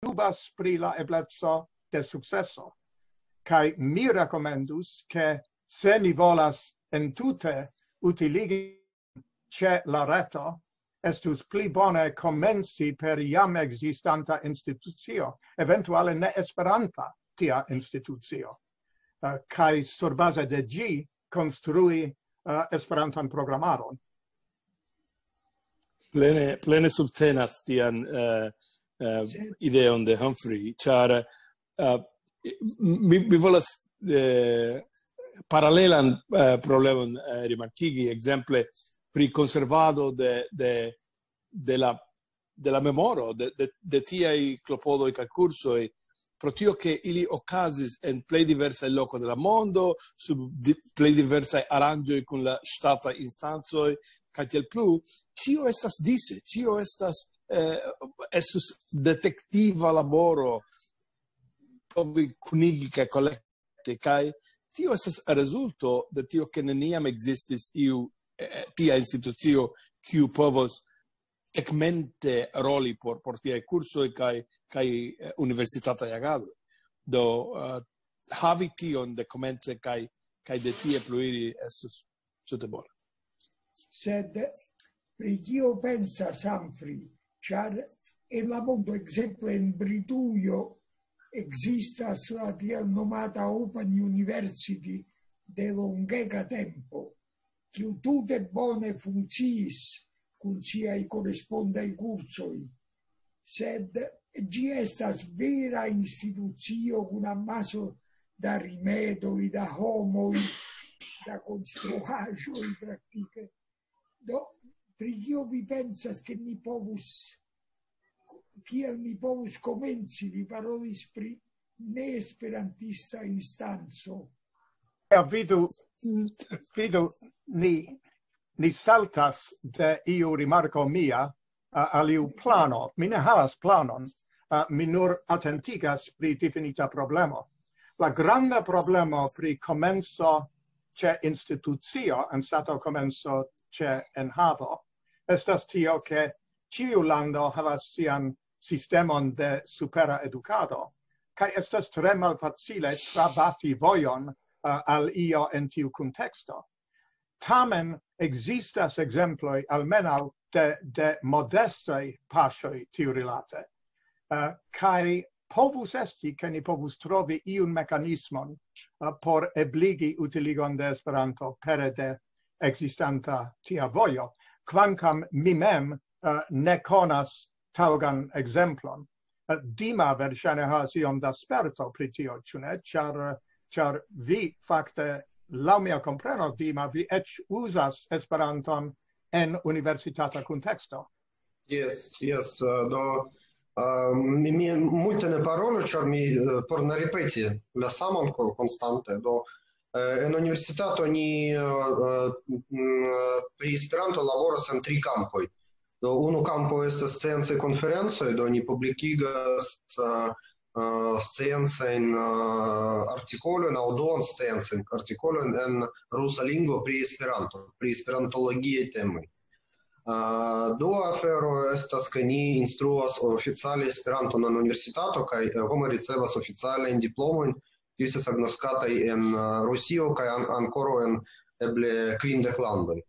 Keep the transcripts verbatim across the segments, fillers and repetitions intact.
dubas pri la ebleco de sukceso. Kaj mi rekomendus, ke se ni volas entute utiligi ĉe la reto, estus pli bone komenci per jam ekzistanta institucio, eventuale ne esperanta tia institucio, eh, kaj surbaze de ĝi konstrui, eh, Esperantan programaron. Plene, plene subtenas tian, eh, eh, ideon de Humphrey, ĉar, eh, mi, mi volas, eh, paralelan, eh, problemon, eh, rimarkigi, ekzemple pri konservado de, de, de la, de la memoro, de, de, de tiaj klopodoj kaj kursoj, pro tio ke ili okazis en plej diversaj lokoj de la mondo, sub di-, plej diversaj aranĝoj kun la ŝtataj instancoj, kaj tiel plu, ĉio estas dise, ĉio estas, eh, estus detektiva laboro, povi kunigi kaj kolekti, kaj tio estas rezulto de tio, ke neniam ekzistis iu, eh, tia institucio, kiu povos tegmente roli por, por tiaj kursoj kaj, kaj, eh, universitataj agadoj. Do, eh, havi tion de komence kaj, kaj de tie pluiri estus tute bone. Sed pri kio pensas Humphrey? Ĉar en la mondo, ekzemple en Britujo, ekzistas la tiel nomata Open University de longega tempo, kiu tute bone funkciis kun siaj korespondaj kursoj. Sed ĝi estas vera institucio kun amaso da rimedoj, da homoj, da konstruaĵoj praktike. Do, pri kio vi pensas, ke ni povus, kiel ni povus komenci? Vi parolis pri neesperantista instanco. Ja, vidu, vidu, ni, ni saltas de iu rimarko mia, a, al iu plano. Mi ne havas planon, a, mi nur atentigas pri difinita problemo. La granda problemo pri komenco ĉe institucio, anstataŭ komenco ĉe enhavo, estas tio, ke ĉiu lando havas sian sistemon de supera edukado, kaj estas tre malfacile trabati vojon, a, al io en tiu kunteksto. Tamen ekzistas ekzemploj almenaŭ de, de modestaj paŝoj tiurilate, eh, kaj povus esti, ke ni povus trovi iun mekanismon, eh, por ebligi utiligon de Esperanto pere de ekzistanta tia vojo, kvankam mi mem, eh, ne konas taŭgan ekzemplon. Eh, Dima verŝajne havas iom da sperto pri tio, ĉu ne? Ĉar, ĉar vi fakte, laŭ mia kompreno, Dima, vi eĉ uzas Esperanton en universitata kunteksto. Jes, jes, eh, do, eh, mi, mi multe ne parolu, ĉar mi, eh, por ne ripeti la saman ko-, konstante. Do, eh, en universitato ni, eh, eh, mm, pri Esperanto laboras en tri kampoj. Do, unu kampo estas sciencaj konferencoj, do ni publikigas, eh, eh, sciencajn, eh, artikolojn aŭ duon sciencajn artikolojn en rusa lingvo pri Esperanto, pri esperantologiaj temoj. Eh, dua afero estas, ke ni instruas oficiale Esperanton en universitato, kaj, eh, homoj ricevas oficialajn diplomojn, kiuj estas agnoskataj en, eh, Rusio kaj an-, ankoraŭ en eble kvindek landoj.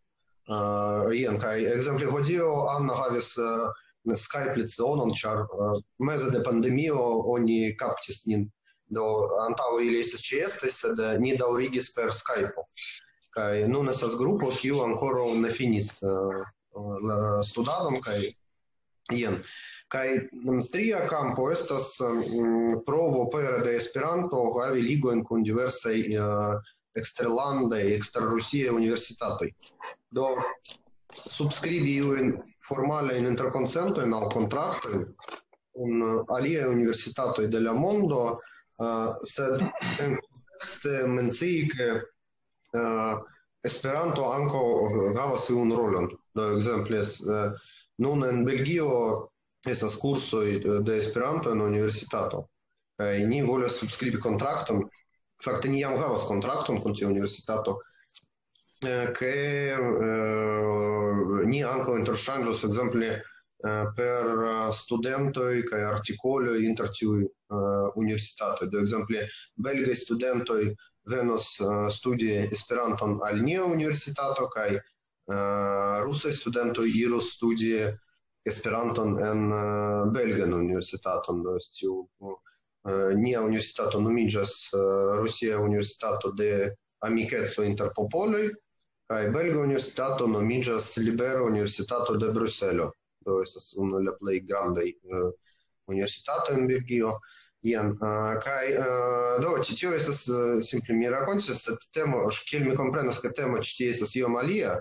Eh, jen, kaj ekzemple hodiaŭ Anna havis, eh, Skype lecionon, ĉar, eh, meze de pandemio oni kaptis nin. Do, antaŭe ili estis ĉeestaj, sed, eh, ni daŭrigis per Skype. Kaj nun estas grupo, kiu ankoraŭ ne finis, eh, la studadon, kaj jen. Kaj, mm, tria kampo estas, mm, provo pere de Esperanto havi ligojn kun diversaj, eh, eksterlandaj, eksterrusiaj universitatoj. Do, subskribi iujn formalajn interkonsentojn aŭ kontraktojn kun, eh, aliaj universitatoj de la mondo, eh, sed en kontekste mencii, ke, eh, Esperanto ankaŭ havas iun rolon. Do, ekzemple, es-, eh, nun en Belgio estas kursoj, eh, de Esperanto en universitato. Kaj ni volas subskribi kontrakton. Fakte ni jam havas kontrakton kun tiu universitato, eh, ke, eh, ni ankaŭ interŝanĝos, ekzemple, eh, per, eh, studentoj kaj artikoloj inter tiuj, eh, universitatoj. Do ekzemple, belgaj studentoj venos, eh, studi Esperanton al nia universitato, kaj, eh, rusaj studentoj iros studi Esperanton en, eh, belgan universitaton. Do tiu, eh, nia universitato nomiĝas, eh, Rusia Universitato de Amikeco inter Popoloj, kaj belga universitato nomiĝas Libera Universitato de Bruselo. Do estas unu el la plej grandaj, eh, universitatoj en Belgio. Jen, eh, kaj, eh, do, ĉi tio estas, eh, simple mi rakontis, sed temo, kiel mi komprenas, ke temo ĉi tie estas iom alia.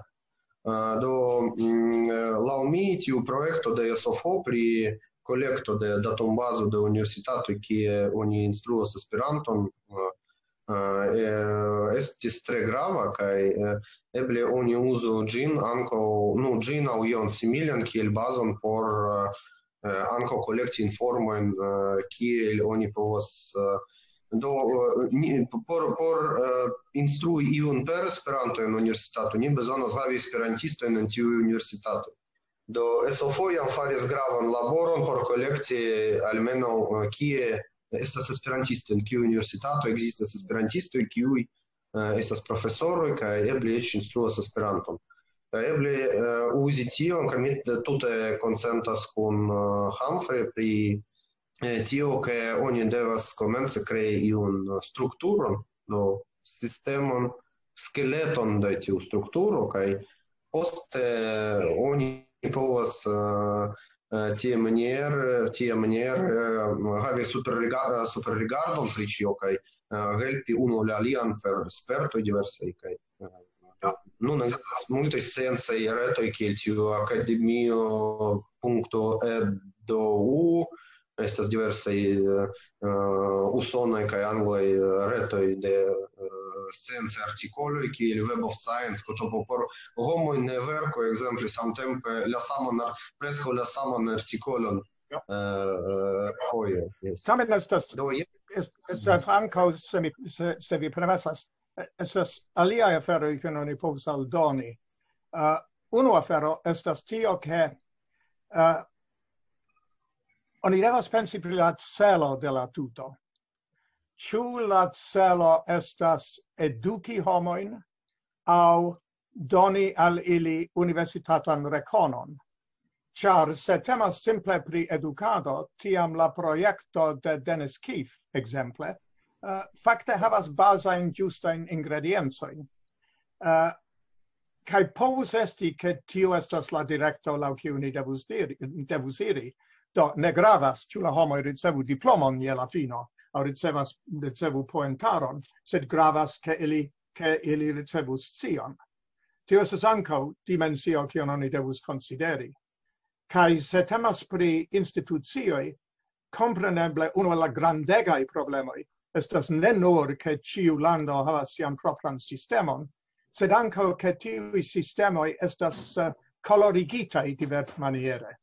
Eh, do, mm, eh, laŭ mi, tiu projekto de S O F O pri kolekto de datumbazo de universitatoj, kie oni instruas Esperanton, eh, eh, estis tre grava, kaj, eh, eble oni uzu ĝin ankaŭ, nu, ĝin aŭ ion similan kiel bazon por, eh, eh, ankaŭ kolekti informojn, eh, kiel oni povas, eh, do, eh, ni, por, por, eh, instrui iun per Esperanto en universitato, ni bezonas havi esperantistojn en tiuj universitatoj. Do, S O F O jam faris gravan laboron por kolekti almenaŭ, eh, kie estas esperantistoj, en kiu universitato ekzistas esperantistoj, kiuj, eh, estas profesoroj kaj eble eĉ instruas Esperanton. Kaj eble, eh, uzi tion, kaj mi tute konsentas kun, eh, Humphrey pri, eh, tio, ke oni devas komence krei iun, eh, strukturon, do, sistemon, skeleton de tiu strukturo, kaj poste oni povas, eh, eh, tiamaniere, tiamaniere, eh, havi superriga-, eh, superrigardon pri ĉio, kaj, eh, helpi unu la alian per spertoj diversaj, kaj, eh, nun ekzistas multaj sciencaj retoj, kiel tiu akademio punkto edu, estas diversaj, eh, eh, usonaj kaj anglaj, eh, retoj de, eh, sciencaj artikoloj, kiel Web of Science, kotopo por homoj ne verku, ekzemple, samtempe la saman ar-, preskaŭ la saman artikolon, eh, eh, foje. Yes. Tamen estas, Do, je-, es-, estas ankaŭ, se mi, se, se vi permesas, eh, estas aliaj aferoj, kiujn oni povas aldoni. Eh, unu afero estas tio, ke, eh, oni devas pensi pri la celo de la tuto. Ĉu la celo estas eduki homojn aŭ doni al ili universitatan rekonon? Ĉar se temas simple pri edukado, tiam la projekto de Dennis Keefe, ekzemple, eh, fakte havas bazajn ĝustajn ingrediencojn. Eh, kaj povus esti, ke tio estas la direkto laŭ kiu ni devus diri, devus iri. Do, ne gravas, ĉu la homoj ricevu diplomon je la fino, aŭ ricevas, ricevu poentaron, sed gravas, ke ili, ke ili ricevu scion. Tio estas ankaŭ dimensio, kion oni devus konsideri. Kaj se temas pri institucioj, kompreneble unu el la grandegaj problemoj estas ne nur, ke ĉiu lando havas sian propran sistemon, sed ankaŭ, ke tiuj sistemoj estas, eh, kolorigitaj diversmaniere.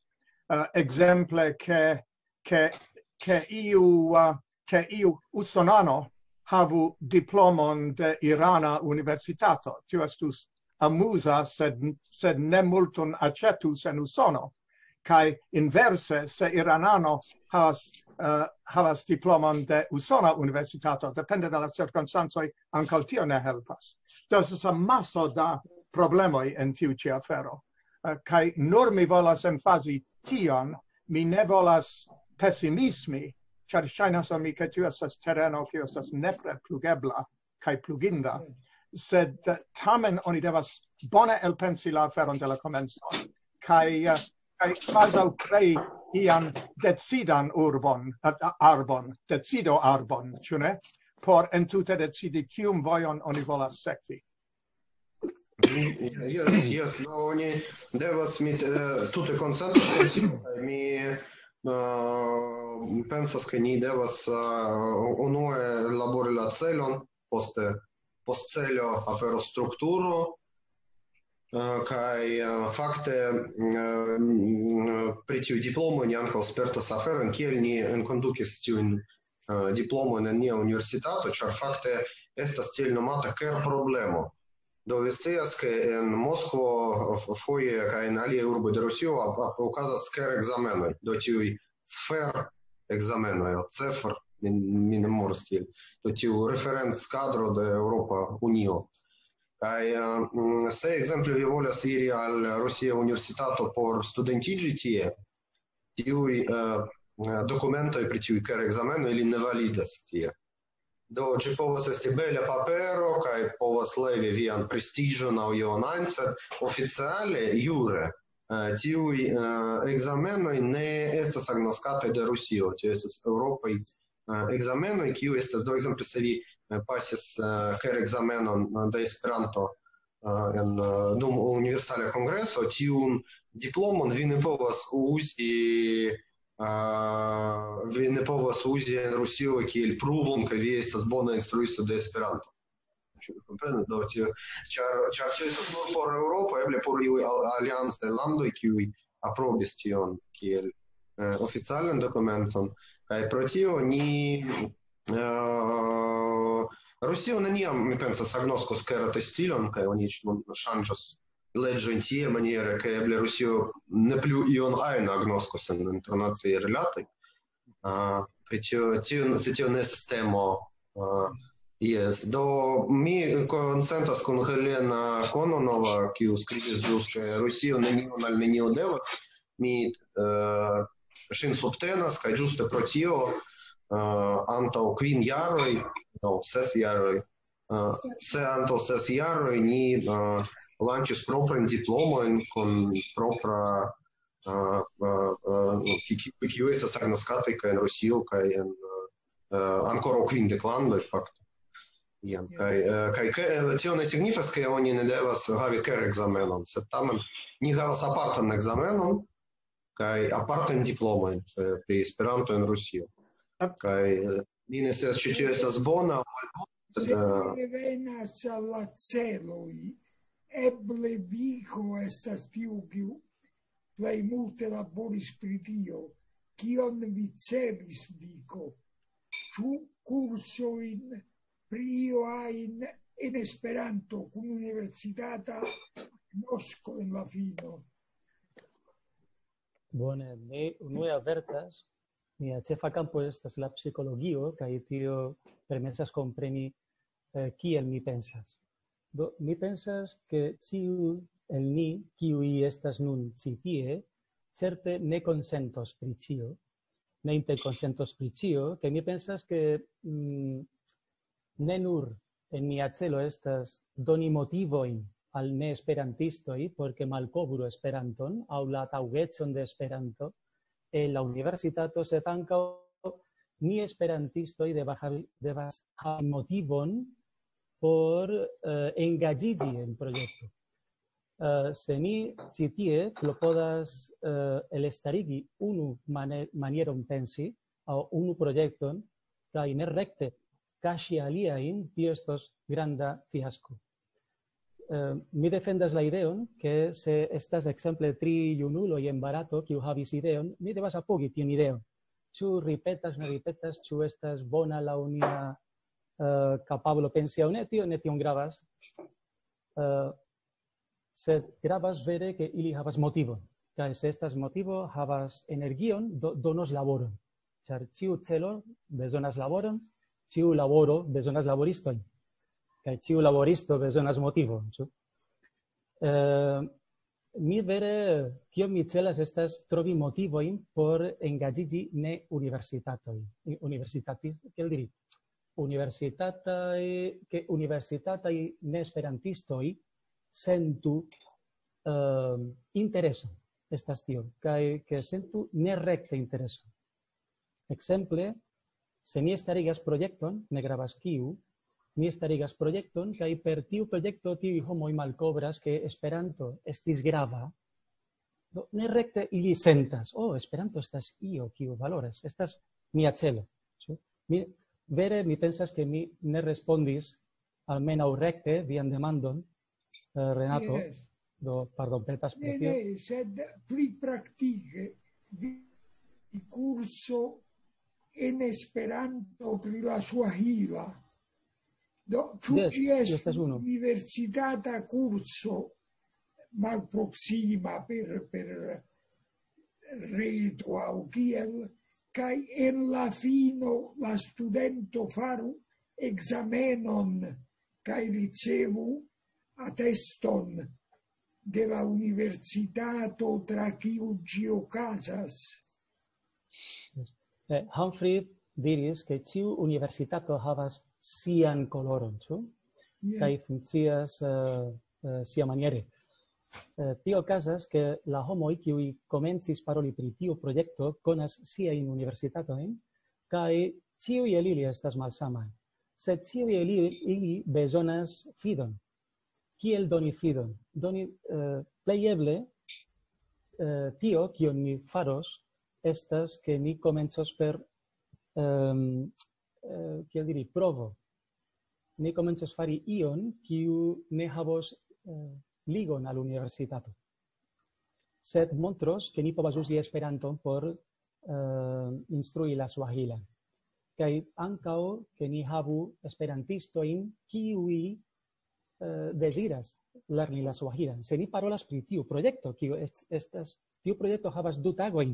Eh, ekzemple, ke, ke, ke iu, eh, ke iu usonano havu diplomon de irana universitato. Tio estus amuza, sed, sed ne multon aĉetus en Usono. Kaj inverse, se iranano havas, eh, havas diplomon de usona universitato, depende de la cirkonstancoj, ankaŭ tio ne helpas. Do estas amaso da problemoj en tiu ĉi afero. Eh, kaj nur mi volas emfazi tion, mi ne volas pesimismi, ĉar ŝajnas al mi, ke tio estas tereno, kiu estas nepre plugebla kaj pluginda. Sed, eh, tamen oni devas bone elpensi la aferon de la komenco. Kaj, eh, kaj kvazaŭ krei ian decidan urbon, eh, arbon, decido arbon, ĉu ne? Por entute decidi, kiun vojon oni volas sekvi. Yes, yes, no, oni devas, mi, eh, tute konsentas, kaj mi, eh, pensas, ke ni devas, eh, unue labori la celon, poste post celo afero strukturo, eh, kaj, eh, fakte, eh, pri tiuj diplomoj ni ankaŭ spertas aferon, kiel ni enkondukis tiujn, eh, diplomojn en nia universitato, ĉar fakte estas tiel nomata ker problemo. Do vi scias, ke en Moskvo f-, foje kaj en aliaj urboj de Rusio ap-, ap-, okazas ker-ekzamenoj, do tiuj sfer-ekzamenoj, aŭ CEFR, mi, mi ne memoras kiel, do tiu referenckadro de Eŭropa Unio. Kaj, eh, mm, se ekzemple vi volas iri al Rusia universitato por studentiĝi tie, tiuj, eh, dokumentoj pri tiuj ker-ekzamenoj, ili ne validas tie. Do, ĝi povas esti bela papero, kaj povas levi vian prestiĝon aŭ ion ajn, sed oficiale, jure, eh, tiuj, eh, ekzamenoj ne estas agnoskataj de Rusio, tio estas eŭropaj, eh, ekzamenoj, kiu estas, do, ekzemple, se vi, eh, pasis, eh, ker-ekzamenon, eh, de Esperanto, eh, en, eh, dum universala kongreso, tiun diplomon vi ne povas uzi, eh, vi ne povas uzi en Rusio kiel pruvon, ke vi estas bona instruisto de Esperanto. Ĉu vi komprenas? Do, tio, ĉar, ĉar tio estas nur por Eŭropo, eble por iuj al-, aliancaj landoj, kiuj aprobis tion kiel, eh, oficialan dokumenton. Kaj pro tio ni, eh, Rusio neniam, mi pensas, agnoskos ker-testilon, kaj oni eĉ nun ŝanĝos leĝojn tie maniere, ke eble Rusio ne plu ion ajn agnoskos en internaciaj rilatoj. Ah, pri tio, tio, se tio ne estas temo, ah, jes. Do, mi konsentas kun Helena Kononova, kiu skribis ĵus, ke Rusio nenion al nenio devas. Mi, eh, ŝin subtenas, kaj ĝuste pro tio, eh, antaŭ kvin jaroj, no, ses jaroj, eh, se antaŭ ses jaroj ni, eh, lanĉis proprajn diplomojn kun propra, eh, eh, eh, ki-, ki-, kiu estas agnoskataj kaj en Rusio, kaj en, eh, ankoraŭ kvindek landoj, fakte. Jen, Ja. Kaj, eh, kaj ke-, eh, tio ne signifas, ke oni ne devas havi ker-ekzamenon, sed tamen ni havas apartan ekzamenon kaj apartajn diplomojn, eh, pri Esperanto en Rusio. Kaj, eh, mi ne scias, ĉu tio estas bona aŭ malbona, sed, Se eh, revenas al la celoj, eble Viko estas tiu, kiu plej multe laboris pri tio. Kion vi celis, Viko? Ĉu kursojn pri io ajn en Esperanto kun universitata agnosko en la fino? Bone, mi unue avertas, mia ĉefa kampo estas la psikologio, kaj tio permesas kompreni, eh, kiel mi pensas. Do, mi pensas, ke ĉiu el ni, kiuj estas nun ĉi tie, certe ne konsentos pri ĉio, ne interkonsentos pri ĉio, kaj mi pensas, ke, mm, ne nur en mia celo estas doni motivojn al neesperantistoj, por ke malkovru Esperanton aŭ la taŭgecon de Esperanto en la universitato, sed ankaŭ ni esperantistoj devas havi, devas havi motivon por, eh, engaĝiĝi en projekto. Eh, se ni ĉi tie klopodas, eh, elestarigi unu mane-, manieron pensi aŭ unu projekton, kaj ne rekte kaŝi aliajn, tio estos granda fiasko. Eh, mi defendas la ideon, ke se estas ekzemple tri junuloj en Barato, kiu havis ideon, mi devas apogi tiun ideon. Ĉu ripetas, ne ripetas, ĉu estas bona laŭ nia, eh, kapablo pensi aŭ ne, tio ne tiom gravas. Eh, sed gravas vere, ke ili havas motivon. Kaj se estas motivo, havas energion, do-, donos laboron. Ĉar ĉiu celo bezonas laboron, ĉiu laboro bezonas laboristojn. Kaj ĉiu laboristo bezonas motivon, ĉu? Eh, mi vere, kio mi celas, estas trovi motivojn por engaĝiĝi ne universitatoj, universitatis-, kiel diri, universitataj, ke universitataj neesperantistoj sentu, eh, intereson, estas tio, kaj ke sentu nerekte intereson. Ekzemple, se mi starigas projekton, ne gravas kiu, mi starigas projekton, kaj per tiu projekto tiuj homoj malkovras, ke Esperanto estis grava, do nerekte ili sentas, "Oh, Esperanto estas io, kiu valoras, estas mia celo." Ĉu? Mi, vere, mi pensas, ke mi ne respondis almenaŭ rekte vian demandon, eh, Renato. Jes. Do, pardonpetas pro Ne, tio. Ne, sed pli praktike, vi-, kurso en Esperanto pri la Suahila. Do, ĉu ĝi estas universitata kurso malproksima per, per reto aŭ kiel, kaj en la fino la studento faru ekzamenon kaj ricevu ateston de la universitato tra kiu ĝi okazas? Eh, Humphrey diris, ke ĉiu universitato havas sian koloron, ĉu? Yes. Kaj funkcias uh, uh, sia maniere. Uh, tio okazas, ke la homoj, kiuj komencis paroli pri tiu projekto, konas siajn universitatojn, kaj ĉiuj el ili estas malsamaj. Sed ĉiuj el ili bezonas fidon. Kiel doni fidon? Doni uh, plej eble uh, tio, kion ni faros, estas, ke ni komencos per, um, uh, kiel diri, provo. Ni komencos fari ion, kiu ne havos uh, ligon al universitato. Sed montros, ke ni povas uzi Esperanton por uh, instrui la suahilan. Kaj ankaŭ, ke ni havu esperantistojn, kiuj uh, deziras lerni la suahilan. Se ni parolas pri tiu projekto, kiu est, estas, tiu projekto havas du tagojn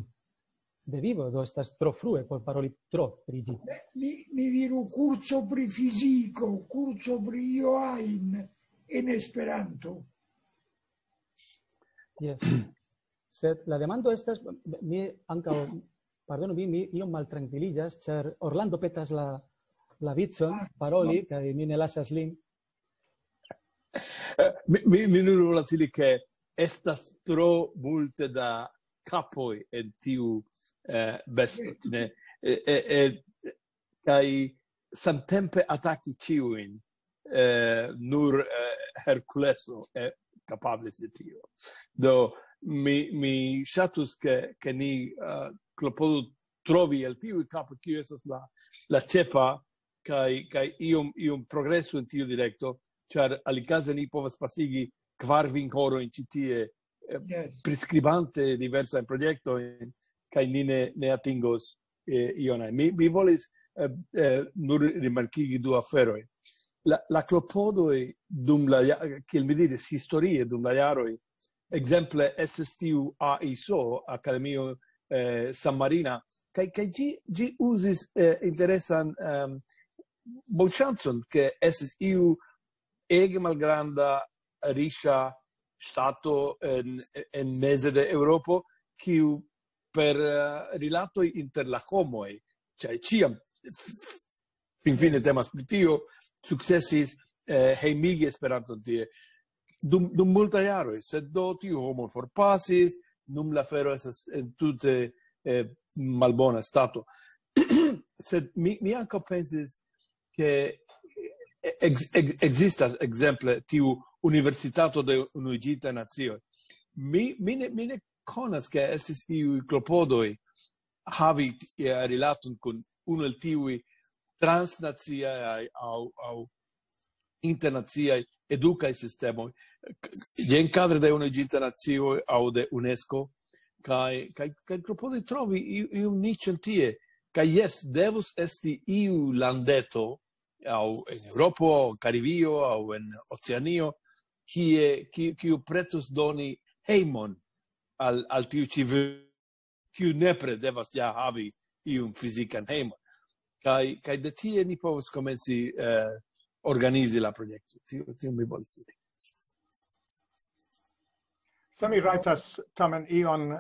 de vivo, do estas tro frue por paroli tro pri ĝi. Ni, ni diru kurso pri fiziko, kurso pri io ajn en Esperanto. Yes. Sed la demando estas, mi ankaŭ, pardonu min, mi iom maltrankviliĝas, ĉar Orlando petas la, la vicon paroli, kaj mi ne lasas lin. Eh, mi, mi, mi nur volas diri, ke estas tro multe da kapoj en tiu eh, besto, ne? Eh, eh, eh, kaj samtempe ataki ĉiujn, eh, nur eh, Herkuleso eh, kapablis de tio. Do, mi, mi ŝatus, ke, ke ni eh, klopodu trovi el tiuj kapoj, kio estas la, la ĉefa, kaj, kaj iom, iom progresu en tiu direkto, ĉar alikaze ni povas pasigi kvar vinkorojn ĉi tie, eh, Yes. priskribante diversajn projektojn, kaj ni ne, ne atingos eh, ion ajn. Mi, mi volis eh, eh, nur rimarkigi du aferojn. La, la klopodoj dum la, ja- kiel mi diris, historie dum la jaroj, ekzemple estis tiu A I S O, Akademio eh, San Marina, kaj, kaj ĝi, ĝi uzis eh, interesan ehm, bonŝancon, ke estis iu ege malgranda, riĉa ŝtato en, en meze de Eŭropo, kiu per eh, rilatoj inter la homoj, ĉar ĉiam finfine temas pri tio, sukcesis eh, hejmigi Esperanton tie dum, dum multaj jaroj, sed do tiu homo forpasis, nun la afero estas en tute eh, malbona stato. Sed mi, mi ankaŭ pensis, ke ex, ex, ekzistas ekzemple tiu Universitato de Unuiĝintaj Nacioj. Mi, mi, ne, mi ne konas, ke estis iuj klopodoj havi eh, rilaton kun unu el tiuj transnaciaj aŭ, aŭ internaciaj edukaj sistemoj, jen kadre de Unuiĝintaj Nacioj aŭ de UNESCO, kaj, kaj, kaj klopodi trovi iu, iun niĉon tie. Kaj jes, devus esti iu landeto, aŭ en Eŭropo, aŭ Karibio, aŭ en Oceanio, kie, ki- kiu pretus doni hejmon al, al tiu ĉi vi- kiu nepre devas ja havi iun fizikan hejmon. Kaj, kaj de tie ni povas komenci eh, organizi la projekto. Tio, tio mi volis diri. Se mi rajtas tamen ion,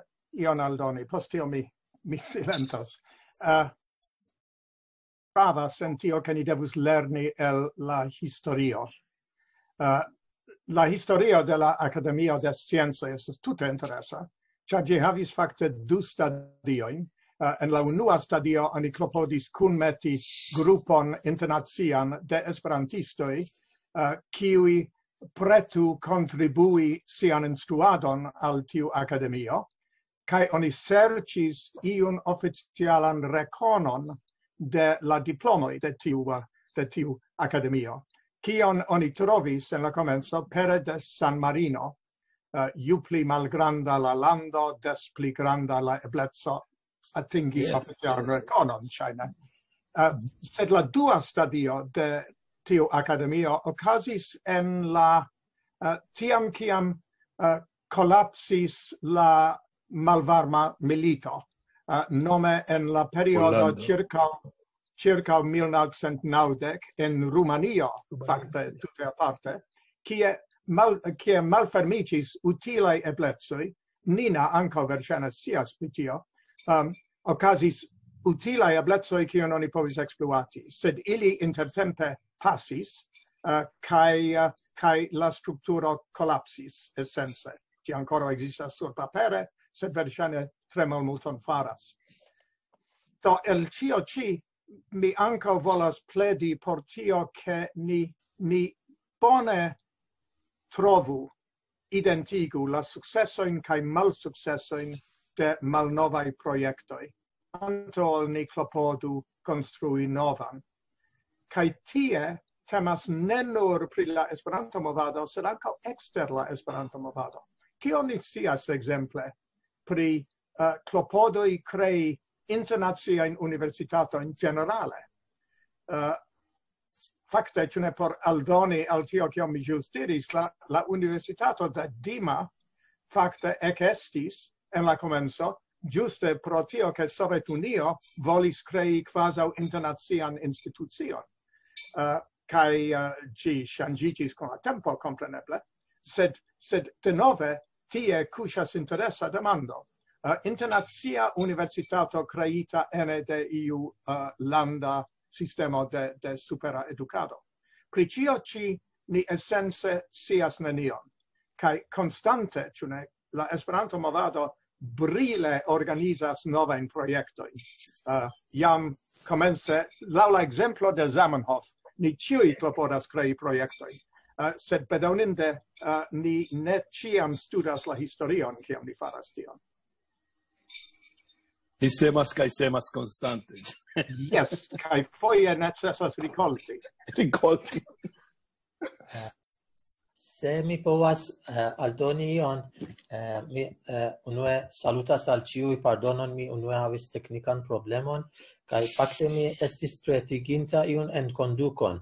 ion aldoni, post tio mi, mi silentas. Uh, pravas en tio, ke ni devus lerni el la historio. Uh, la historio de la Akademio de Sciencoj estas tute interesa, ĉar ĝi havis fakte du stadiojn. Uh, en la unua stadio oni klopodis kunmeti grupon internacian de esperantistoj, uh, kiuj pretu kontribui sian instruadon al tiu akademio, kaj oni serĉis iun oficialan rekonon de la diplomoj de tiu, uh, de tiu akademio. Kion oni trovis en la komenco pere de San Marino, uh, ju pli malgranda la lando, des pli granda la ebleco atingi Yes, oficialan yes. rekonon, ŝajne. Uh, sed la dua stadio de tiu akademio okazis en la, eh, tiam kiam, eh, kolapsis la malvarma milito, eh, nome en la periodo Pollando. Circa, circa mil novecent naŭdek en Rumanio, fakte tute aparte, kie mal-, kie malfermiĝis utilaj eblecoj, Nina ankaŭ verŝajne scias pri tio, um, okazis utilaj eblecoj, kion oni povis ekspluati, sed ili intertempe pasis, eh, kaj, eh, kaj la strukturo kolapsis esence. Ĝi ankoraŭ ekzistas sur papere, sed verŝajne tre malmulton faras. Do el ĉio ĉi mi ankaŭ volas pledi por tio, ke ni, ni bone trovu, identigu la sukcesojn kaj malsukcesojn de malnovaj projektoj, antaŭ ol ni klopodu konstrui novan. Kaj tie temas ne nur pri la Esperanto-movado, sed ankaŭ ekster la Esperanto-movado. Kion ni scias ekzemple pri, eh, klopodoj krei internaciajn universitatojn ĝenerale? Eh, fakte, ĉu ne, por aldoni al tio, kion mi ĵus diris, la, la Universitato de Dima fakte ekestis en la komenco, ĝuste pro tio, ke Sovetunio volis krei kvazaŭ internacian institucion. Eh, kaj, eh, ĝi ŝanĝiĝis kun la tempo, kompreneble, sed, sed denove tie kuŝas interesa demando. Eh, internacia universitato kreita ene de iu, eh, landa sistemo de, de supera edukado. Pri ĉio ĉi ni esence scias nenion. Kaj konstante, ĉu ne, la Esperanto-movado brile organizas novajn projektojn. Eh, jam komence, laŭ la ekzemplo de Zamenhof, ni ĉiuj klopodas krei projektojn. Eh, sed bedaŭrinde, eh, ni ne ĉiam studas la historion, kiam ni faras tion. Ni semas kaj semas konstante. Jes, kaj foje necesas rikolti. Rikolti. Se mi povas, eh, aldoni ion, eh, mi, eh, unue salutas al ĉiuj, pardonon, mi unue havis teknikan problemon, kaj fakte mi estis pretiginta iun enkondukon.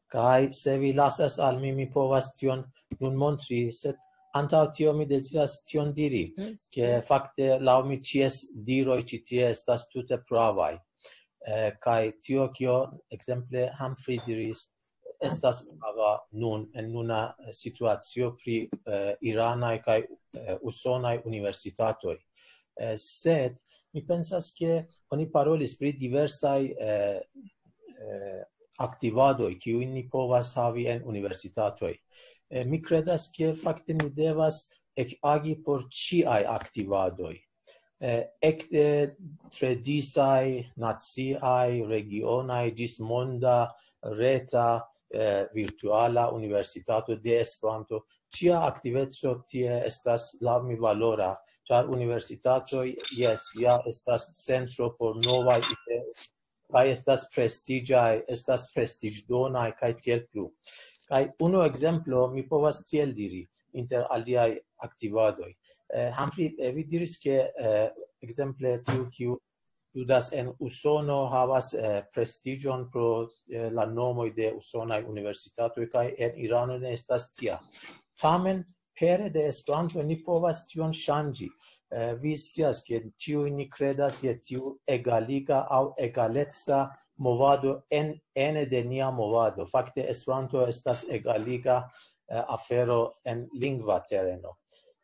Kaj se vi lasas al mi, mi povas tion nun montri, sed antaŭ tio mi deziras tion diri, ke fakte laŭ mi ĉies diroj ĉi tie estas tute pravaj. Eh, kaj tio, kio ekzemple Humphrey diris, estas prava nun en nuna, eh, situacio pri, eh, iranaj kaj, eh, usonaj universitatoj. Eh, sed mi pensas, ke oni parolis pri diversaj, eh, eh, aktivadoj, kiujn ni povas havi en universitatoj. Eh, mi kredas, ke fakte ni devas ekagi por ĉiaj aktivadoj. Eh, ekde tre disaj, naciaj, regionaj, ĝis monda, reta, eh, virtuala universitato de Esperanto. Ĉia aktiveco tie estas laŭ mi valora, ĉar universitatoj, jes, ja estas centro por novaj ideoj, kaj estas prestiĝaj, estas prestiĝdonaj, kaj tiel plu. Kaj unu ekzemplo, mi povas tiel diri, inter aliaj aktivadoj. Eh, Humphrey, eh, vi diris, ke, eh, ekzemple tiu, kiu studas en Usono, havas, eh, prestiĝon pro, eh, la nomoj de usonaj universitatoj, kaj en Irano ne estas tia. Tamen, pere de Esperanto ni povas tion ŝanĝi. Eh, vi scias, ke ĉiuj ni kredas je tiu egaliga aŭ egaleca movado en, ene de nia movado. Fakte Esperanto estas egaliga, eh, afero en lingva tereno.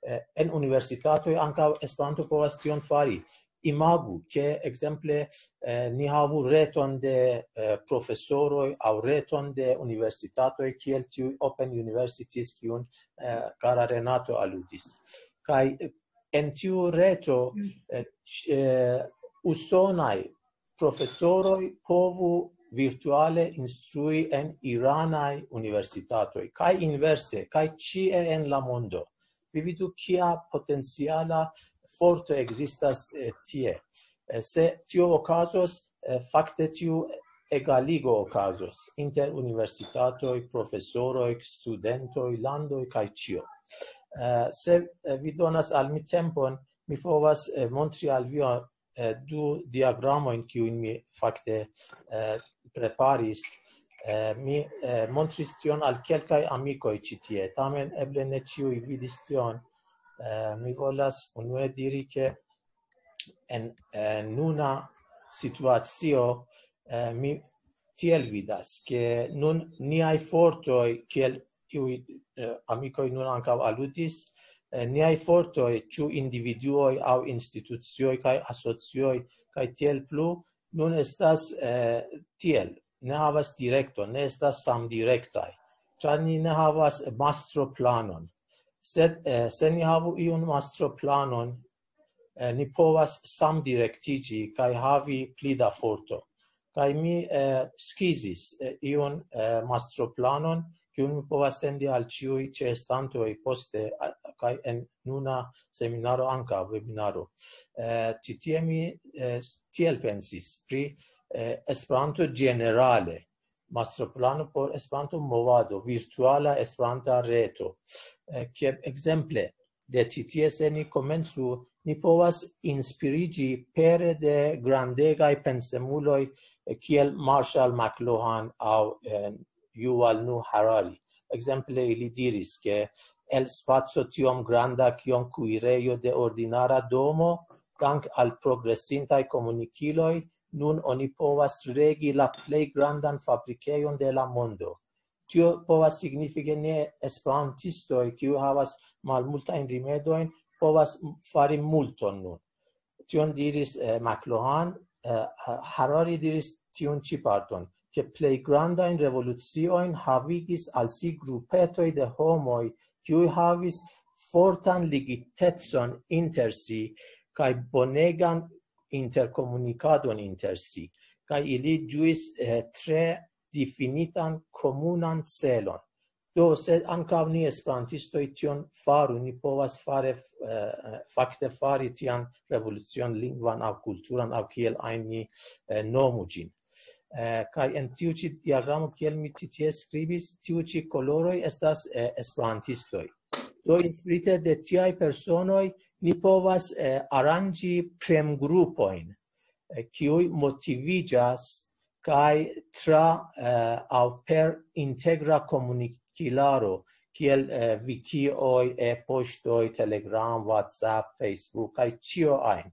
Eh, en universitatoj ankaŭ Esperanto povas tion fari. Imagu, ke ekzemple, eh, ni havu reton de, eh, profesoroj aŭ reton de universitatoj, kiel tiuj Open Universities, kiun, eh, kara Renato aludis. Kaj, eh, en tiu reto, eh, ĉ-, eh, usonaj profesoroj povu virtuale instrui en iranaj universitatoj, kaj inverse, kaj ĉie en la mondo. Vi vidu, kia potenciala forto ekzistas, eh, tie. Eh, se tio okazos, eh, fakte tiu egaligo okazos inter universitatoj, profesoroj, studentoj, landoj kaj ĉio. Eh, se, eh, vi donas al mi tempon, mi povas, eh, montri al vi, eh, du diagramojn, kiujn mi fakte, eh, preparis. Eh, mi eh, montris tion al kelkaj amikoj ĉi tie, tamen eble ne ĉiuj vidis tion. Eh, mi volas unue diri, ke en eh, nuna situacio eh, mi tiel vidas, ke nun niaj fortoj, kiel iuj eh, amikoj nun ankaŭ aludis, eh, niaj fortoj, ĉu individuoj aŭ institucioj kaj asocioj kaj tiel plu, nun estas eh, tiel, ne havas direkton, ne estas samdirektaj, ĉar ni ne havas mastroplanon. Sed eh, se ni havu iun mastroplanon, eh, ni povas samdirektiĝi kaj havi pli da forto. Kaj mi eh, skizis eh, iun eh, mastroplanon, kiun mi povas sendi al ĉiuj ĉeestantoj poste, a- kaj en nuna seminaro ankaŭ, webinaro. Eh, ĉi tie mi eh, tiel pensis pri eh, Esperanto ĝenerale, mastroplano por Esperanto-movado, virtuala Esperanta reto. Eh, kiel ekzemple de ĉi tie, se ni komencu, ni povas inspiriĝi pere de grandegaj pensemuloj eh, kiel Marshall McLuhan aŭ eh, Yuval Noah Harari. Ekzemple, ili diris, ke el spaco tiom granda kiom kuirejo de ordinara domo, dank al progresintaj komunikiloj, nun oni povas regi la plej grandan fabrikejon de la mondo. Tio povas signifi, ke ne esperantistoj, kiu havas malmultajn rimedojn, povas fari multon nun. Tion diris eh, McLuhan, eh, Harari diris tiun ĉi parton, ke plej grandajn revoluciojn havigis al si grupetoj de homoj, kiuj havis fortan ligitecon inter si kaj bonegan interkomunikadon inter si, kaj ili ĝuis eh, tre difinitan komunan celon. Do, se ankaŭ ni esperantistoj tion faru, ni povas fare, eh, fakte fari tian revolucion lingvan aŭ kulturan aŭ kiel ajn ni eh, nomu ĝin. Eh, kaj en tiu ĉi diagramo, kiel mi ĉi tie skribis, tiu ĉi koloroj estas eh, esperantistoj. Do, inspirite de tiaj personoj, ni povas eh, aranĝi premgrupojn, eh, kiuj motiviĝas kaj tra eh, aŭ per integra komunikilaro, kiel eh, wikioj, e-poŝtoj, Telegram, WhatsApp, Facebook, kaj ĉio ajn.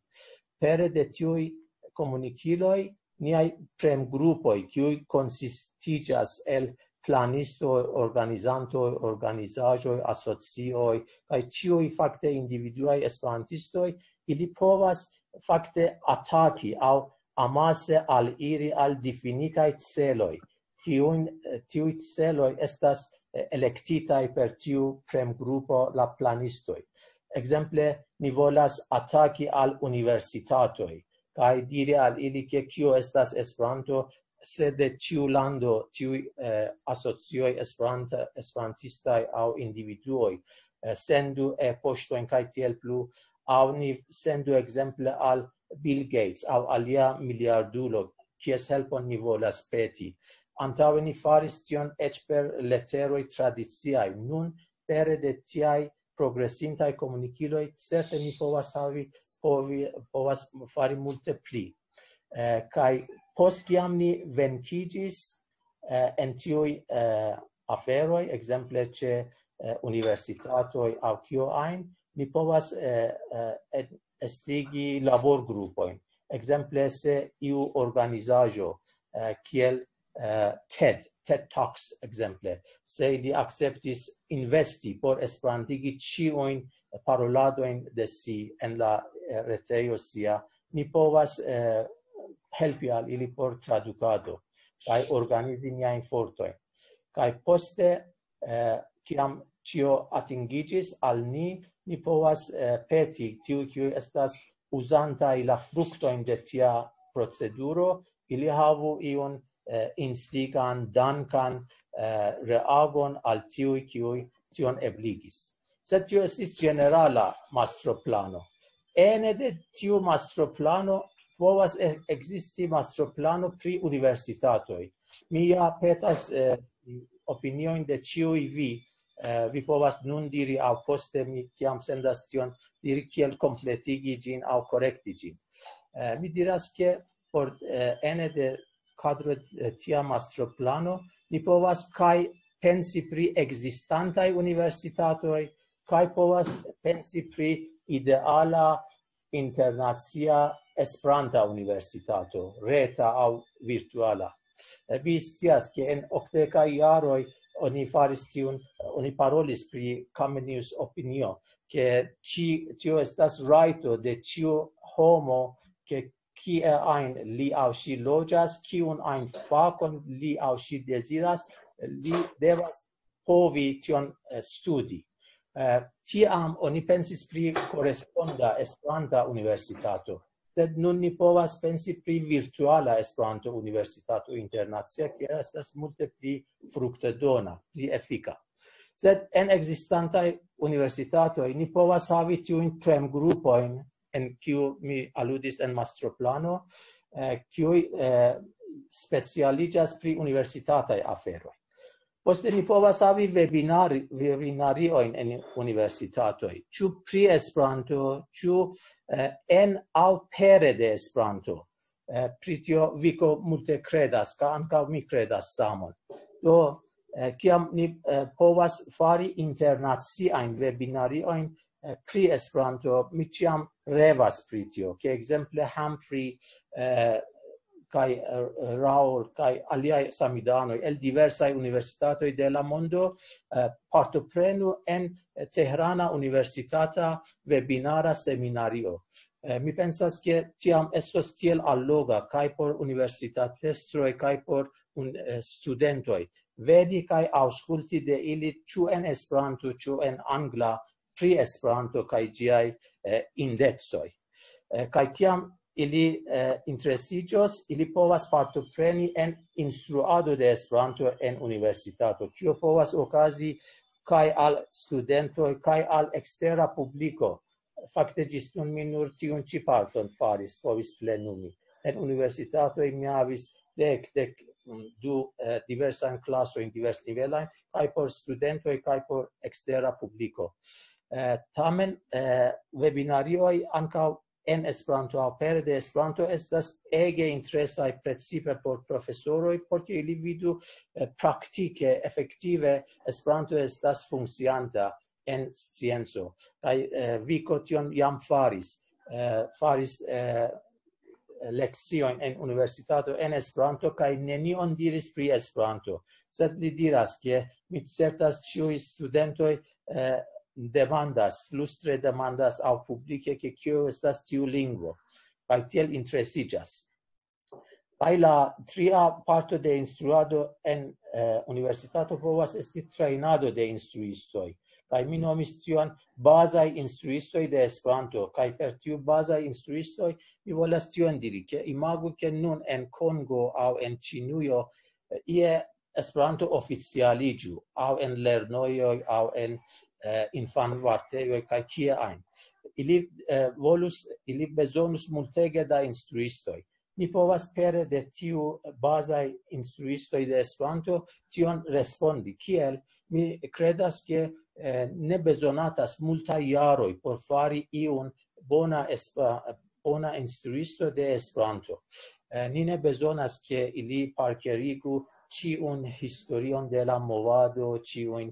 Pere de tiuj komunikiloj, niaj premgrupoj, kiuj konsistiĝas el planistoj, organizantoj, organizaĵoj, asocioj, kaj ĉiuj fakte individuaj esperantistoj, ili povas fakte ataki aŭ amase aliri al difinitaj celoj, kiujn eh, tiuj celoj estas eh, elektitaj per tiu premgrupo la planistoj. Ekzemple, ni volas ataki al universitatoj kaj diri al ili, ke kio estas Esperanto, se de ĉiu lando tiuj eh, asocioj esperanta, esperantistaj aŭ individuoj eh, sendu e-poŝtojn kaj tiel plu, aŭ ni sendu ekzemple al Bill Gates aŭ alia miliardulo, kies helpon ni volas peti. Antaŭe ni faris tion eĉ per leteroj tradiciaj. Nun, pere de tiaj progresintaj komunikiloj, certe ni povas havi, povi, povas fari multe pli. Eh, kaj post kiam ni venkiĝis eh, en tiuj eh, aferoj, ekzemple ĉe eh, universitatoj aŭ kio ajn, ni povas eh, eh, et- estigi laborgrupojn. Ekzemple, se iu organizaĵo eh, kiel eh, TED, TED Talks, ekzemple, se ili akceptis investi por esperantigi ĉiujn paroladojn de si en la eh, retejo sia, ni povas eh, helpi al ili por tradukado kaj organizi niajn fortojn. Kaj poste, eh, kiam ĉio atingiĝis al ni, ni povas eh, peti tiuj, kiuj estas uzantaj la fruktojn de tia proceduro, ili havu iun eh, instigan, dankan eh, reagon al tiuj, kiuj tion ebligis. Sed tio estis ĝenerala mastroplano. Ene de tiu mastroplano povas e- ekzisti mastroplano pri universitatoj. Mi ja petas eh, opiniojn de ĉiuj vi. Eh, vi povas nun diri, aŭ poste mi, kiam sendas tion, diri, kiel kompletigi ĝin aŭ korekti ĝin. Eh, mi diras, ke por eh, ene de kadro de tia mastroplano Ni povas kaj pensi pri ekzistantaj universitatoj, kaj povas pensi pri ideala internacia Esperanta universitato, reta aŭ virtuala. Eh, Vi scias, ke en okdekaj jaroj oni faris tiun, oni parolis pri Comenius opinio, ke ĉi, tio estas rajto de ĉiu homo, ke kie ajn li aŭ ŝi loĝas, kiun ajn fakon li aŭ ŝi deziras, li devas povi tion eh, studi. Eh, Tiam oni pensis pri koresponda Esperanta universitato, sed nun ni povas pensi pri virtuala Esperanto universitato internacia, kiel estas multe pli fruktodona, pli efika. Sed en ekzistantaj universitatoj ni povas havi tiujn premgrupojn, en kiu mi aludis en mastroplano, eh, kiuj eh, specialiĝas pri universitataj aferoj. Poste ni povas havi webinari, webinariojn en universitatoj, ĉu pri Esperanto, ĉu eh, en aŭ pere de Esperanto. Eh, pri tio Viko multe kredas, kaj ankaŭ mi kredas samon. Do, eh, kiam ni eh, povas fari internaciajn webinariojn eh, pri Esperanto, mi ĉiam revas pri tio, ke ekzemple Humphrey eh, kaj eh, Raoul kaj aliaj samidanoj el diversaj universitatoj de la mondo eh, partoprenu en Tehrana universitata webinara seminario. Eh, Mi pensas, ke tiam estos tiel alloga kaj por universitatestroj, kaj por un, eh, studentoj, veni kaj aŭskulti de ili, ĉu en Esperanto, ĉu en angla, pri Esperanto kaj ĝiaj eh, indexoj. Eh, Kaj kiam ili eh, interesiĝos, ili povas partopreni en instruado de Esperanto en universitato, kio povas okazi kaj al studentoj, kaj al ekstera publiko. Fakte ĝis nun mi nur tiun ĉi parton faris, povis plenumi. En universitatoj mi havis dek, dek du eh, diversajn klasojn, diversnivelajn, kaj por studentoj, kaj por ekstera publiko. Eh, Tamen eh, webinarioj ankaŭ en Esperanto aŭ pere de Esperanto estas ege interesaj, precipe por profesoroj, por ke ili vidu eh, praktike, efektive Esperanto estas funkcianta en scienco. Kaj eh, Viko tion jam faris, eh, faris eh, lekciojn en universitato en Esperanto, kaj nenion diris pri Esperanto. Sed li diras, ke mi certas, ĉiuj studentoj eh, demandas, flustre demandas aŭ publike, ke kio estas tiu lingvo, kaj tiel interesiĝas. Kaj la tria parto de instruado en eh, universitato povas esti trejnado de instruistoj. Kaj mi nomis tion bazaj instruistoj de Esperanto, kaj per tiu bazaj instruistoj mi volas tion diri, ke imagu, ke nun en Kongo aŭ en Ĉinujo eh, ie Esperanto oficialiĝu, aŭ en lernojoj, aŭ en eh, infanvartejoj, kaj kie ajn. Ili eh, volus, ili bezonus multege da instruistoj. Ni povas pere de tiu bazaj instruistoj de Esperanto tion respondi. Kiel? Mi kredas, ke eh, ne bezonatas multaj jaroj por fari iun bona, espa, bona instruisto de Esperanto. Eh, ni ne bezonas, ke ili parkerigu ĉiun historion de la movado, ĉiujn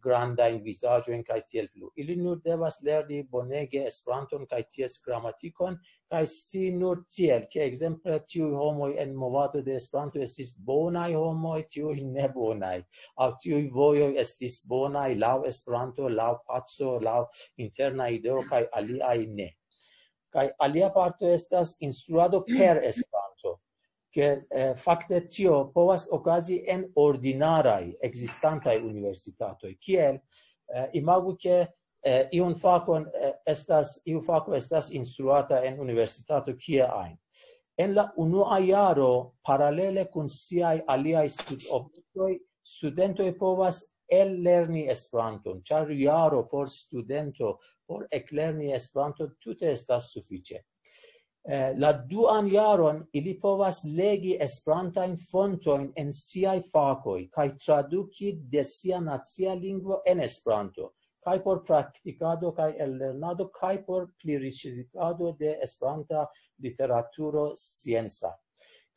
grandajn vizaĝojn kaj tiel plu. Ili nur devas lerni bonege Esperanton kaj ties gramatikon, kaj scii nur tiel, ke ekzemple tiuj homoj en movado de Esperanto estis bonaj homoj, tiuj ne bonaj, aŭ tiuj vojoj estis bonaj laŭ Esperanto, laŭ paco, laŭ interna ideo, kaj aliaj ne. Kaj alia parto estas instruado per Esperanto, ke eh, fakte tio povas okazi en ordinaraj ekzistantaj universitatoj, kiel eh, imagu, ke eh, iun fakon eh, estas, iu fako estas instruata en universitato kie ajn. En la unua jaro, paralele kun siaj aliaj studobjektoj, studentoj povas ellerni Esperanton, ĉar jaro por studento por eklerni Esperanton tute estas sufiĉe. Eh, La duan jaron ili povas legi esperantajn fontojn en siaj fakoj kaj traduki de sia nacia lingvo en Esperanto, kaj por praktikado kaj ellernado, kaj por pliriĉigado de Esperanta literaturo scienca.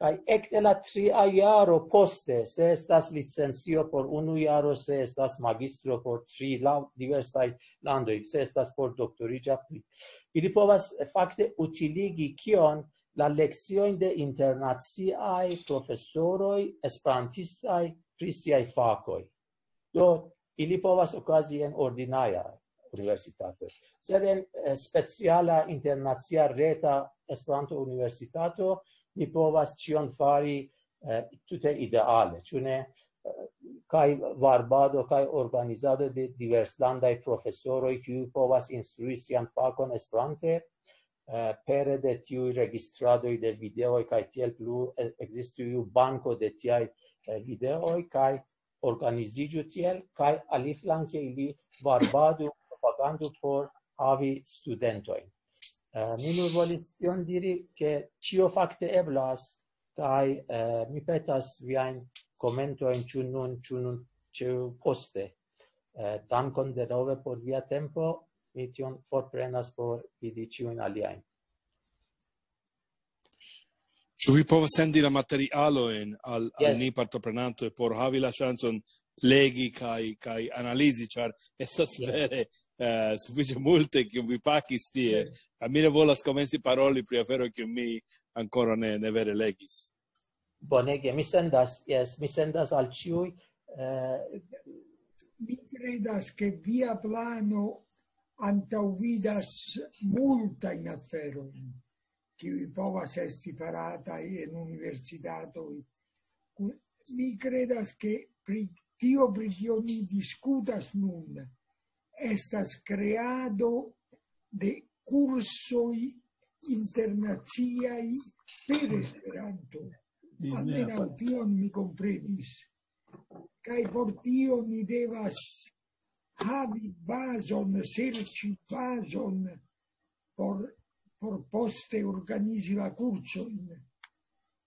Kaj ekde la tria jaro poste, se estas licencio por unu jaro, se estas magistro por tri, laŭ diversaj landoj, se estas por doktoriĝa pli. Ili povas fakte utiligi kion la lekciojn de internaciaj profesoroj, esperantistaj pri siaj fakoj. Do, ili povas okazi en ordinaria universitato. Sed en eh, speciala internacia reta Esperanto-universitato, mi povas ĉion fari eh, tute ideale, ĉu ne? Eh, Kaj varbado, kaj organizado de diverslandaj profesoroj, kiuj povas instrui sian fakon Esperante, eh, pere de tiuj registradoj de videoj, kaj tiel plu eh, ekzistu iu banko de tiaj eh, videoj, kaj organiziĝu tiel, kaj aliflanke ili varbadu, propagandu por havi studentojn. Eh, Mi nur volis tion diri, ke ĉio fakte eblas, kaj eh, mi petas viajn komentojn, ĉu nun, ĉu nun, ĉu poste. Eh, Dankon denove por via tempo, mi tion forprenas por vidi ĉiujn aliajn. Ĉu vi povas sendi la materialojn al, al Yes. ni partoprenantoj por havi la ŝancon legi kaj, kaj analizi, ĉar estas Yes. vere eh, sufiĉe multe, kiun vi pakis tie. Kaj mi ne volas komenci paroli pri afero, kiun mi ankoraŭ ne, ne vere legis. Bonege, mi sendas, yes, mi sendas al ĉiuj. Eh, Mi credas che via plano antaŭvidas multajn aferojn, kiuj povas esti farataj en universitatoj. Ku- Mi credas che pri tio, pri kio ni diskutas nun, estas kreado de kursoj internaciaj per Esperanto. Almenaŭ tion mi komprenis. Kaj por tio ni devas havi bazon, serĉi bazon por, por poste organizi la kursojn.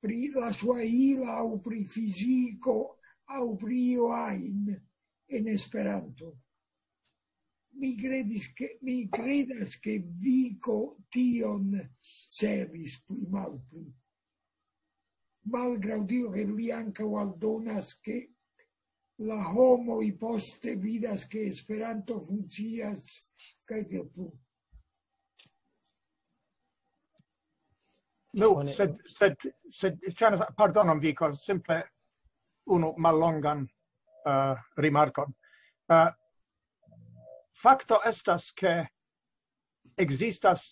Pri la Swahila aŭ pri fiziko aŭ pri io ajn en Esperanto. Mi kredis, ke, mi kredas, ke Viko tion celis pli malpli. Malgraŭ tio, ke li ankaŭ aldonas, ke la homoj poste vidas, ke Esperanto funkcias, kaj tiel plu. Nu, sed, sed, sed, ŝajnas, pardonon, Viko, simple unu mallongan uh, rimarkon. Uh, fakto estas, ke ekzistas,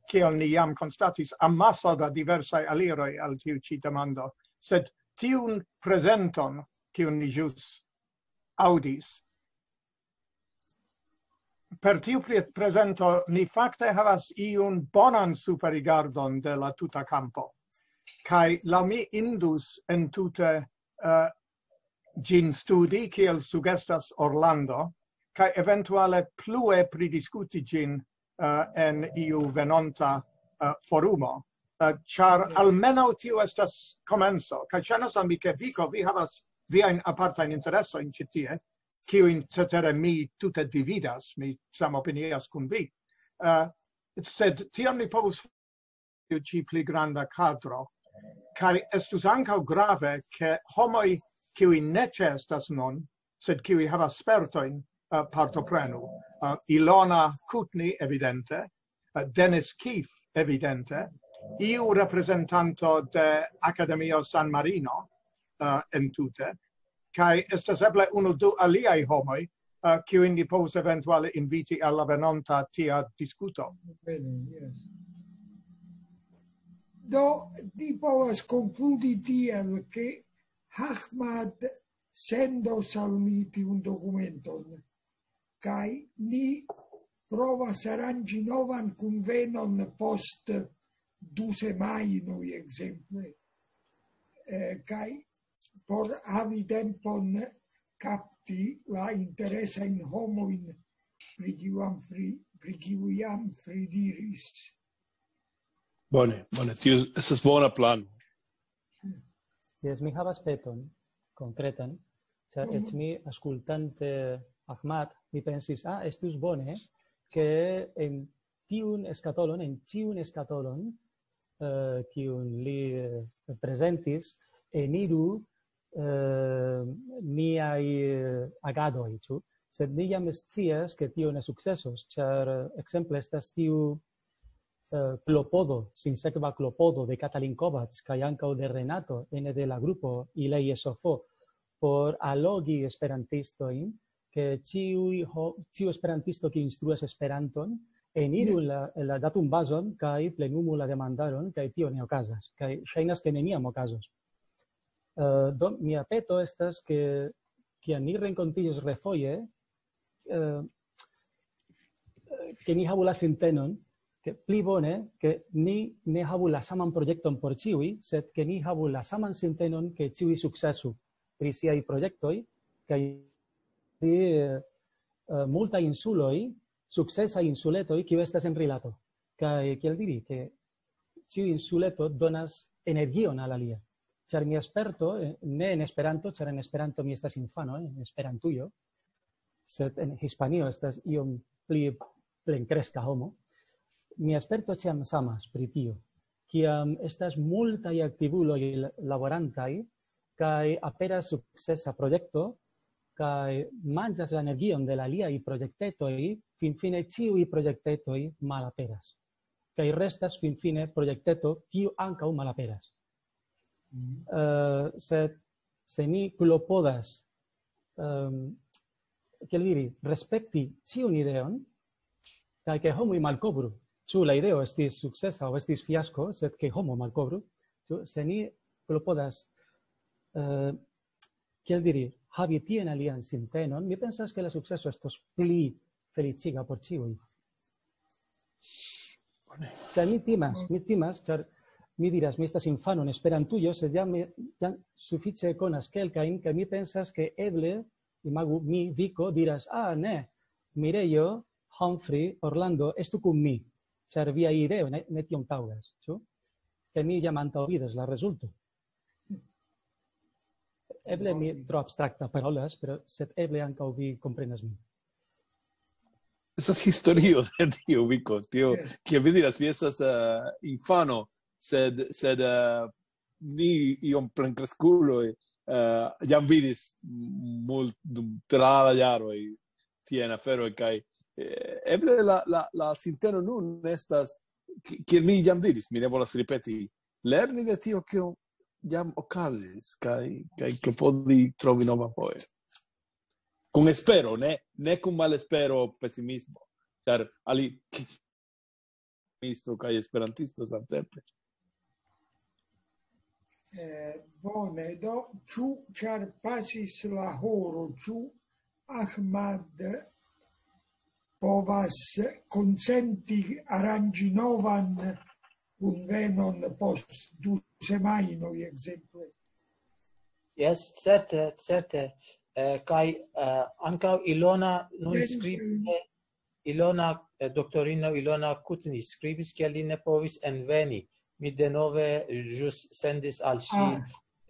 kiel ni jam konstatis, amaso da diversaj aliroj al tiu ĉi demando, sed tiun prezenton, kiun ni ĵus aŭdis, per tiu pre- prezento ni fakte havas iun bonan superrigardon de la tuta kampo. Kaj laŭ mi indus entute uh, ĝin studi, kiel sugestas Orlando, kaj eventuale plue pridiskuti ĝin uh, en iu venonta uh, forumo. Uh, ĉar almenaŭ tio estas komenco, kaj ŝajnas al mi, ke Viko, vi havas viajn apartajn interesojn ĉi tie, kiujn cetere mi tute dividas, mi samopinias kun vi. Uh, sed tion mi povus tiu ĉi pli granda kadro. Kaj estus ankaŭ grave, ke homoj, kiuj ne ĉeestas nun, sed kiuj havas spertojn, uh, partoprenu. Uh, Ilona Kutni, evidente, uh, Dennis Keefe, evidente, iu reprezentanto de Akademio San Marino uh, entute, kaj estas eble unu du aliaj homoj, uh, kiujn ni povus eventuale inviti al la venonta tia diskuto. Bene, yes. Do, ni povas konkludi tiel, ke Ahmad sendos al mi tiun dokumenton, kaj ni provas aranĝi novan kunvenon post du semajnoj, ekzemple, eh, kaj por havi tempon kapti la interesajn homojn, pri kiu jam Fri-, pri kiu jam Fri diris. Bone, bone, tio estas bona plano. Jes, mi havas peton konkretan, ĉar eĉ mi, aŭskultante Ahmad, mi pensis, ah, estus bone, ke en tiun skatolon, en ĉiun skatolon, eh, kiun li, eh, prezentis, eniru, eh, niaj, eh, agadoj, ĉu? Sed ni jam scias, ke tio ne sukcesos, ĉar, eh, ekzemple estas tiu, eh, klopodo, sinsekva klopodo de Katalin Kovacs kaj ankaŭ de Renato ene de la grupo Ilei S O F por allogi esperantistojn, ke ĉiuj ho-, ĉiu esperantisto, kiu instruas Esperanton, eniru la, la datumbazon kaj plenumu la demandaron, kaj tio ne okazas, kaj ŝajnas, ke neniam okazos. Eh, do, mia peto estas, ke kiam ni renkontiĝos refoje, eh, ke ni havu la sintenon, ke pli bone, ke ni ne havu la saman projekton por ĉiuj, sed ke ni havu la saman sintenon, ke ĉiuj sukcesu pri siaj projektoj, kaj pri, eh, eh, multaj insuloj, sukcesaj insuletoj, kiu estas en rilato. Kaj, kiel diri, ke ĉiu insuleto donas energion al alia. Ĉar mia sperto, eh, ne en Esperanto, ĉar en Esperanto mi estas infano, eh, en Esperantujo, sed en Hispanio estas iom pli plenkreska homo. Mia sperto ĉiam samas pri tio. Kiam estas multaj aktivuloj la-, laborantaj, kaj aperas sukcesa projekto, kaj manĝas la energion de la aliaj projektetoj, finfine ĉiuj projektetoj malaperas. Kaj restas finfine projekteto, kiu ankaŭ malaperas. Eh, sed se ni klopodas, ehm, kiel diri, respekti ĉiun ideon, kaj ke homoj malkovru, ĉu la ideo estis sukcesa aŭ estis fiasko, sed ke homo malkovru, ĉu? Se ni klopodas, eh, kiel diri, havi tian alian sintenon, mi pensas, ke la sukceso estos pli feliĉiga por ĉiuj. Kaj mi timas, mi timas, ĉar mi diras, mi estas infano en Esperantujo, sed jam, mi jam sufiĉe konas kelkajn, kaj mi pensas, ke eble, imagu mi, Viko, diras, ah, ne, Mirejo, Humphrey, Orlando, estu kun mi, ĉar via ideo ne, ne tiom taŭgas, ĉu? Kaj mi jam antaŭvidas la rezulto. Eble mi tro abstrakta parolas, pero sed eble ankaŭ vi komprenas min. Estas historio de tio, Viko, tio, kiel vi diras, vi estas, eh, infano, sed, sed, eh, ni iom plenkreskuloj, eh, jam vidis mult-, dum tra la jaroj tiajn aferojn, kaj, eh, eble la, la, la sinteno nun estas, ki-, kiel mi jam diris, mi ne volas ripeti, lerni de tio, kio jam okazis, kaj, kaj klopodi trovi nova foje. Kun espero, ne, ne kun malespero, pesimismo. Ĉar ali-, ki-, esperantisto kaj esperantisto samtempe. Eh, bone, do, ĉu, ĉar pasis la horo, ĉu Ahmad povas konsenti aranĝi novan kunvenon post du semajnoj, ekzemple? Jes, certe, certe. Eh, kaj, eh, ankaŭ Ilona nun Jen, skribis, Ilona, eh, doktorino Ilona Kutni skribis, ke li ne povis enveni. Mi denove ĵus sendis al ŝi Ah.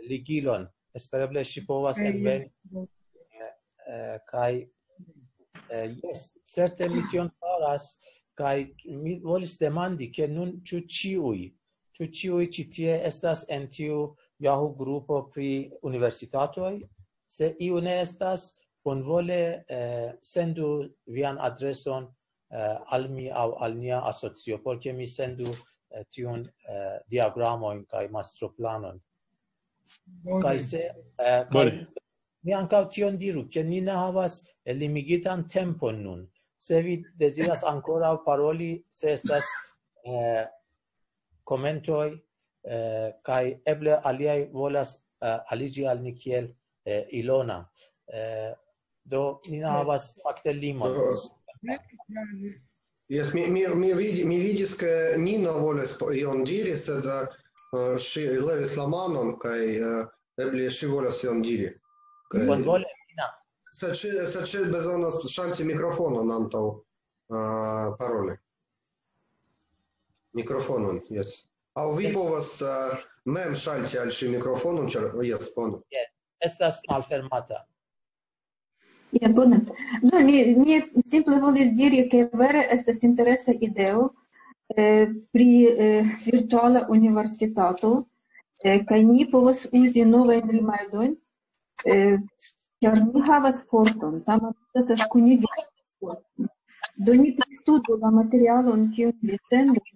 ligilon. Espereble ŝi povas Eh, enveni. Eh, eh, kaj, eh, jes, certe mi tion faras, kaj mi volis demandi, ke nun ĉu ĉiuj, ĉu ĉiuj ĉi tie estas en tiu Yahoo grupo pri universitatoj? Se iu ne estas, bonvole, eh, sendu vian adreson, eh, al mi aŭ al nia asocio, por ke mi sendu, eh, tiun, eh, diagramojn kaj mastroplanon. Bone. Kaj se, eh, kaj Bone. Mi ankaŭ tion diru, ke ni ne havas, eh, limigitan tempon nun. Se vi deziras ankoraŭ paroli, se estas, eh, komentoj, eh, kaj eble aliaj volas, eh, aliĝi al ni kiel, eh, Ilona. Eh, do, ni ne havas fakte limon. Do, jes, mi, mi, mi, vidi, mi vidis, ke Nino volis po-, ion diri, sed, eh, ŝi levis la manon, kaj, eh, eble ŝi volas ion diri. Kaj Bonvole, Nina. Sed ŝi, sed ŝi bezonas ŝalti mikrofonon antaŭ, eh, paroli. Mikrofonon, jes. Aŭ vi Jes. povas, eh, mem ŝalti al ŝi mikrofonon, ĉar, jes, bone. Estas malfermata. Ja, bone. Do, mi, mi simple volis diri, ke vere estas interesa ideo, eh, pri eh, virtuala universitato, eh, kaj ni povas uzi novajn rimedojn, eh, ĉar ni havas korton, tamen estas kunigi korton. Do ni pristudu la materialon, kiun vi sendas,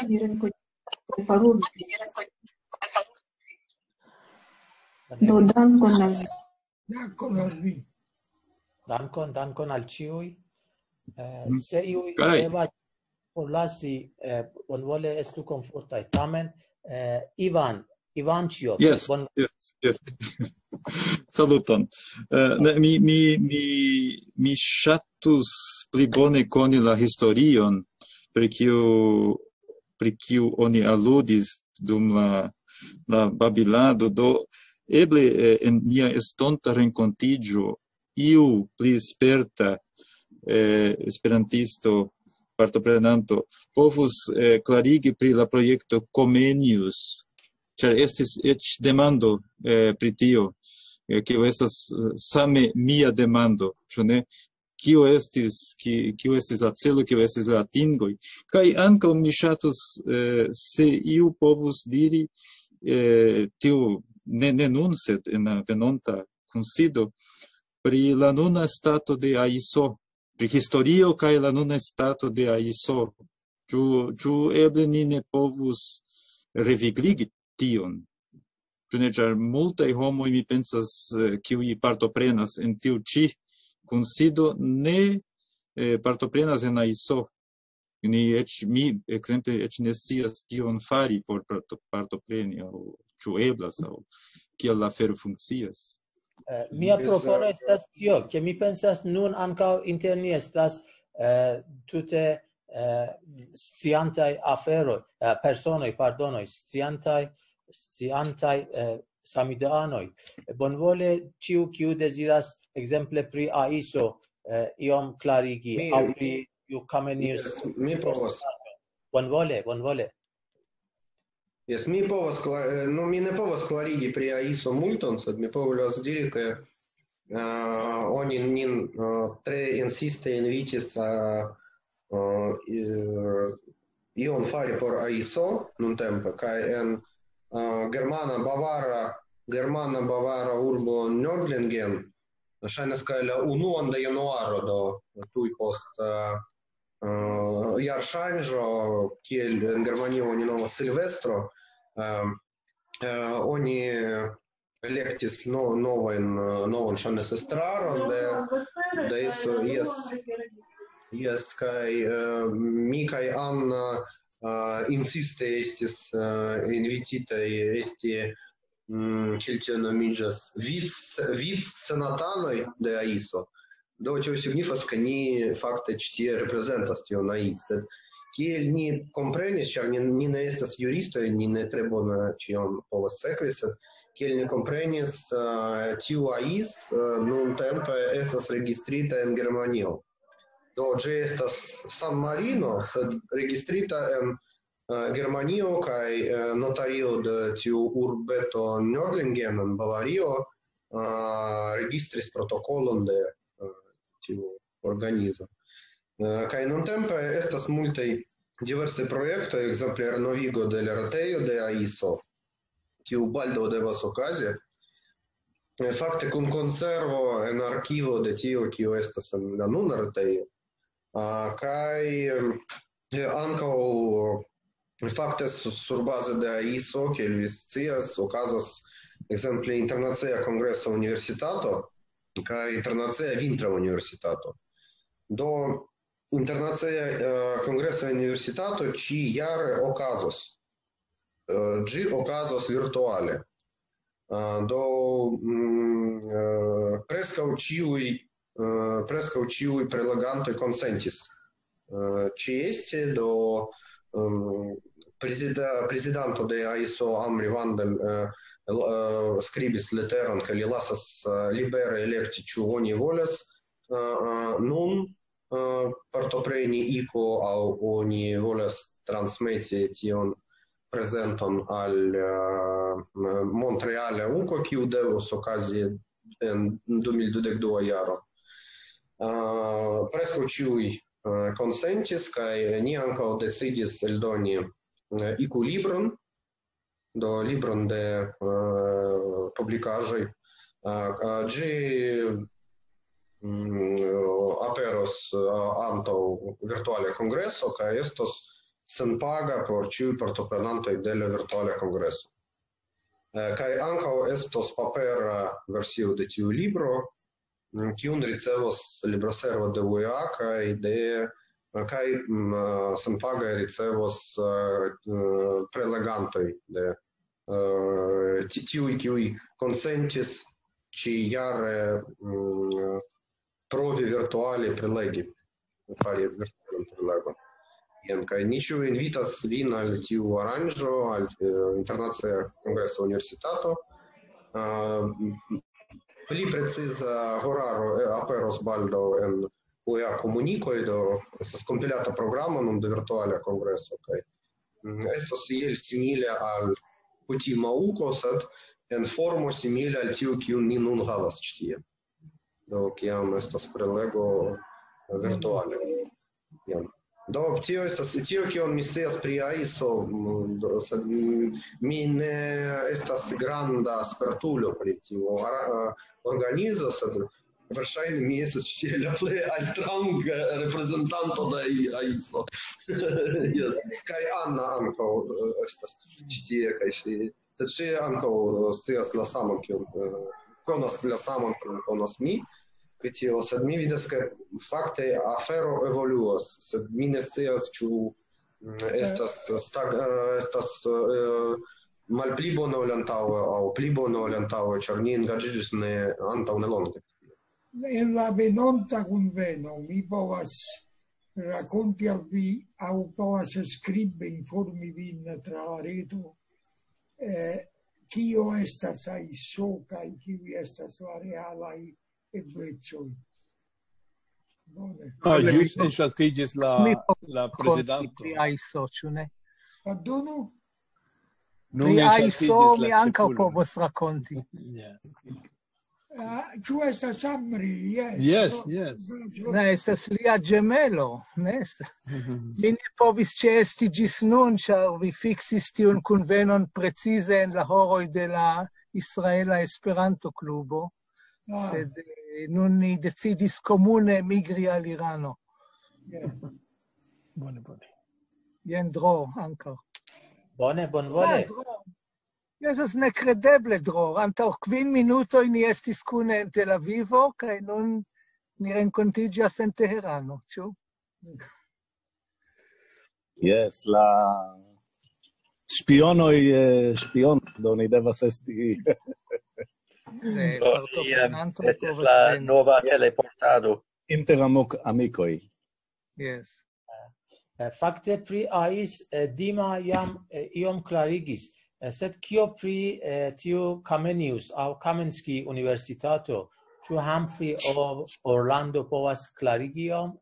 ni renkontiĝu kaj parolu. Do dankon al vi. Dankon al vi. Dankon, dankon al ĉiuj. Eh, se iuj devas forlasi, eh, bonvole estu komfortaj. Tamen, eh, Ivan, Ivan Ĉiop, yes, bon... yes, yes. Saluton. Uh, ne, mi, mi, mi, mi ŝatus pli bone koni la historion, pri kiu, pri kiu oni aludis dum la, la babilado. Do, eble eh, en nia estonta renkontiĝo iu pli sperta eh, esperantisto partoprenanto povus eh, klarigi pri la projekto Comenius, ĉar estis eĉ demando eh, pri tio, eh, kiu estas eh, same mia demando, ĉu ne? Kio estis, ki, kio estis la celo, kio estis la atingoj. Kaj ankaŭ mi ŝatus, eh, se iu povus diri, eh, tiu, ne, ne nun, sed en la venonta kunsido, pri la nuna stato de AISO, pri historio kaj la nuna stato de AISO. Ĉu, ĉu eble ni ne povus revigligi tion? Ĉu ne, ĉar multaj homoj, mi pensas, eh, kiuj partoprenas en tiu ĉi kunsido, ne eh, partoprenas en AISO. Ni eĉ, mi, ekzemple, eĉ ne scias kion fari por parto, partopreni, aŭ ĉu eblas, aŭ kiel la afero funkcias. Eh, mia propono estas tio, ke mi pensas nun ankaŭ inter ni estas eh, tute eh, sciantaj aferoj, eh, personoj, pardonoj, sciantaj, sciantaj eh, samideanoj. Bonvole ĉiu, kiu deziras ekzemple pri AISO eh, iom klarigi, Mi- aŭ pri iu Comenius. Yes, mi povas. Bonvole, bonvole. Yes, mi povas, kla- eh, no, mi ne povas klarigi pri AISO multon, sed mi povas diri, ke uh, oni nin uh, tre insiste invitis a uh, i- ion fari por AISO nuntempe, kaj en uh, germana bavara, germana bavara urbo Nördlingen, ŝajnas, kaj la unuan de januaro, do tuj post uh, uh, jarŝanĝo, kiel en Germanio oni nomas Silvestro, um, uh, oni elektis no, novajn, uh, novan ŝajnas estraron de, de AISO, yes, yes, kaj uh, mi kaj Anna uh, insiste estis uh, invititaj esti, mm, kiel tio nomiĝas, vic-, vic-senatanoj de AISO. Do tio signifas, ke ni fakte ĉi tie reprezentas tion AISO. Sed kiel ni komprenis, ĉar ni, ni ne estas juristoj, ni ne tre bone ĉion povas sekvi, sed kiel ni komprenis, uh, tiu AISO uh, nuntempe estas registrita en Germanio. Do ĝi estas San Marino, sed registrita en uh, Germanio, kaj uh, notario de tiu urbeto Nördlingen en Bavario uh, registris protokolon de uh, tiu organizo. Uh, kaj nuntempe estas multaj diversaj projektoj, ekzemple renovigo de la retejo de AISO, kiu baldaŭ devas okazi. Eh, Fakte kun konservo en arkivo de tio, kio estas en la nuna retejo. Uh, kaj eh, ankaŭ fakte su- surbaze de AISO, kiel vi scias, okazas ekzemple Internacia Kongresa Universitato kaj Internacia Vintra Universitato. Do Internacia uh, Kongresa Universitato ĉi jare okazos. Uh, ĝi okazos virtuale. Uh, do mm, uh, preskaŭ ĉiuj uh, preskaŭ ĉiuj prelegantoj konsentis uh, ĉeesti, do um, prezida, prezidanto de AISO Amri Vandal uh, uh, skribis leteron, ke li lasas uh, libere elekti, ĉu oni volas uh, uh, nun uh, partopreni iko aŭ oni volas transmeti tion prezenton al uh, Montreale uko, kiu devos okazi en du mil dudek dua jaro. Uh, preskaŭ ĉiuj eh, konsentis, kaj ni ankaŭ decidis eldoni, eh, iku libron, do libron de, eh, publikaĵoj. Eh, eh, ĝi, mm, aperos, eh, antaŭ virtuala kongreso, kaj estos senpaga por ĉiuj partoprenantoj de la virtuala kongreso. Eh, kaj ankaŭ estos papera versio de tiu libro, mm, kiun ricevos libroservo de U E A kaj de, kaj, mm, eh, senpage ricevos, eh, eh, prelegantoj de, eh, ti-, tiuj, kiuj konsentis ĉi-jare, mm, provi virtuale prelegi, fari virtualan prelegon. Jen, kaj ni ĉiuj invitas vin al tiu aranĝo, al, eh, Internacia Kongresa Universitato. Eh, pli preciza horaro, eh, aperos baldaŭ en U E A komunikoj, do estas kompilata programo nun de virtuala kongreso, kaj, mm, estos iel simile al kutima uko, sed en formo simile al tiu, kiun ni nun havas ĉi tie. Do, kiam estas prelego virtuale. Jam. Do, tio estas tio, kion mi scias pri aiso, mm, do, sed, mm, mi ne estas granda spertulo pri tiu ara-, eh, organizo, sed verŝajne mi estas ĉi tie la plej altranga reprezentanto de ai-, aiso. Jes. Kaj Anna ankaŭ, eh, estas ĉi tie, kaj ŝi, sed ŝi ankaŭ, eh, scias la samon, kion, eh, konas la samon, kion konas mi, pri tio, sed mi vidas, ke fakte afero evoluas, sed mi ne scias, ĉu, mm, estas stag-, eh, estas, eh, malpli bona ol antaŭe aŭ pli bona ol antaŭe, ĉar ni engaĝiĝis ne antaŭ nelonge. En la venonta kunveno mi povas rakonti al vi aŭ povas skribe informi vin tra la reto, eh, kio estas aiso kaj kiuj estas la realaj eblecoj. Bone. Ah, ĵus enŝaltiĝis la, Mi povas la rakonti prezidanto. pri aiso, ĉu ne? Pardonu? Nun Pri enŝaltiĝis aiso la mi ankaŭ ĉefulo. povas rakonti. Yes. Ah, ĉu estas Amri? Yes. Yes, yes. Ne, estas lia ĝemelo, ne? Mhm. Mi ne povis ĉeesti ĝis nun, ĉar vi fiksis tiun kunvenon precize en la horoj de la Israela Esperanto-klubo, Ah. sed, eh, nun ni decidis komune migri al Irano. Yeah. Bone, bone. Jen Dro ankaŭ. Bone, bonvole. Ah, Dro. Estas nekredeble, Dro. Antaŭ kvin minutoj ni estis kune en Tel Avivo, kaj nun ni renkontiĝas en Teherano, ĉu? Yes, la špionoj, eh, špion, do ni devas esti. Ne, Do, partoprenanto jam, estis povas la veni. nova teleportado. Inter amok-, amikoj. Yes. Eh, fakte pri ais, eh, Dima jam, eh, iom klarigis, eh, sed kio pri, eh, tiu Kamenius aŭ Kamenski Universitato? Ĉu Humphrey aŭ Orlando povas klarigi iom?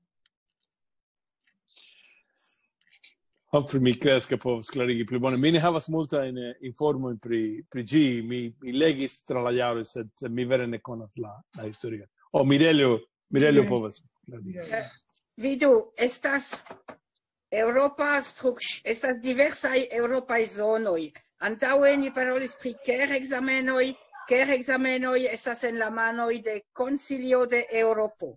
Humphrey, mi kredas, ke povas klarigi pli bone. Mi ne havas multajn, eh, informojn pri, pri ĝi. Mi, mi legis tra la jaroj, sed, sed mi vere ne konas la, la historion. O, Mirelio, Mirelio Mirelio. povas klarigi. Eh, vidu, estas Eŭropa struk-, estas diversaj eŭropaj zonoj. Antaŭe ni parolis pri ker-ekzamenoj. Ker-ekzamenoj estas en la manoj de Konsilio de Eŭropo.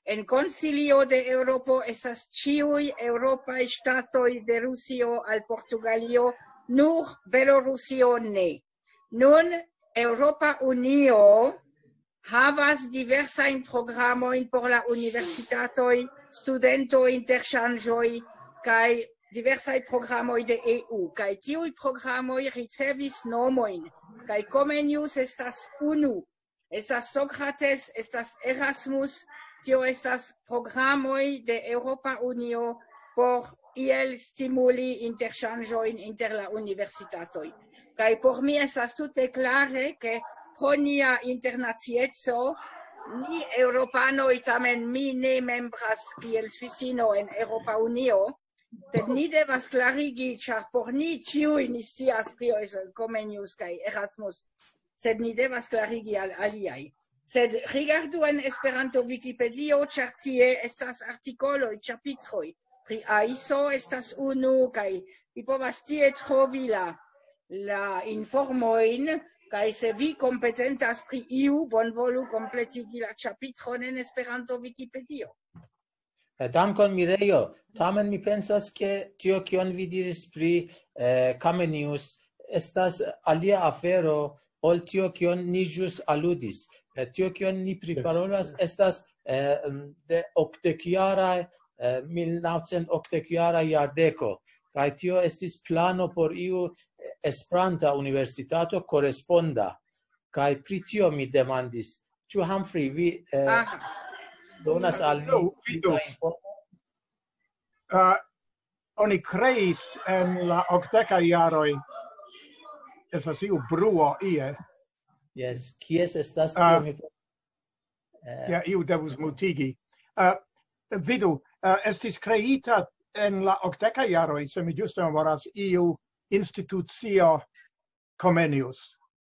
En Konsilio de Eŭropo estas ĉiuj eŭropaj ŝtatoj de Rusio al Portugalio, nur Belorusio ne. Nun Eŭropa Unio havas diversajn programojn por la universitatoj, studento-interŝanĝoj kaj diversaj programoj de E U. Kaj tiuj programoj ricevis nomojn, kaj Comenius estas unu. Estas Socrates, estas Erasmus, tio estas programoj de Eŭropa Unio por iel stimuli interŝanĝojn inter la universitatoj. Kaj por mi estas tute klare, ke pro nia internacieco, ni eŭropanoj, tamen mi ne membras kiel Svisino en Eŭropa Unio, sed ni devas klarigi, ĉar por ni ĉiuj ni scias pri Comenius kaj Erasmus, sed ni devas klarigi al aliaj. Sed rigardu en Esperanto Wikipedio, ĉar tie estas artikoloj, ĉapitroj. Pri aiso estas unu, kaj vi povas tie trovi la, la informojn, kaj se vi kompetentas pri iu, bonvolu kompletigi la ĉapitron en Esperanto Wikipedio. Eh, Dankon, Mirejo. Tamen mi pensas, ke tio, kion vi diris pri eh, Comenius, estas alia afero ol tio, kion ni ĵus aludis. Eh, tio, kion ni priparolas, estas eh, de okdekjara, eh, mil naŭcent okdekjara jardeko. Kaj tio estis plano por iu eh, Esperanta universitato koresponda. Kaj pri tio mi demandis, ĉu Humphrey, vi eh, Aha. donas al mi No, pli vidos. da informo? Uh, oni kreis en la okdekaj jaroj, estas iu bruo ie. Jes, kies estas Ah. tio? Mi eh, Ja, iu devus mutigi. Uh, vidu, uh, estis kreita en la okdekaj jaroj, se mi ĝuste memoras, iu institucio Comenius.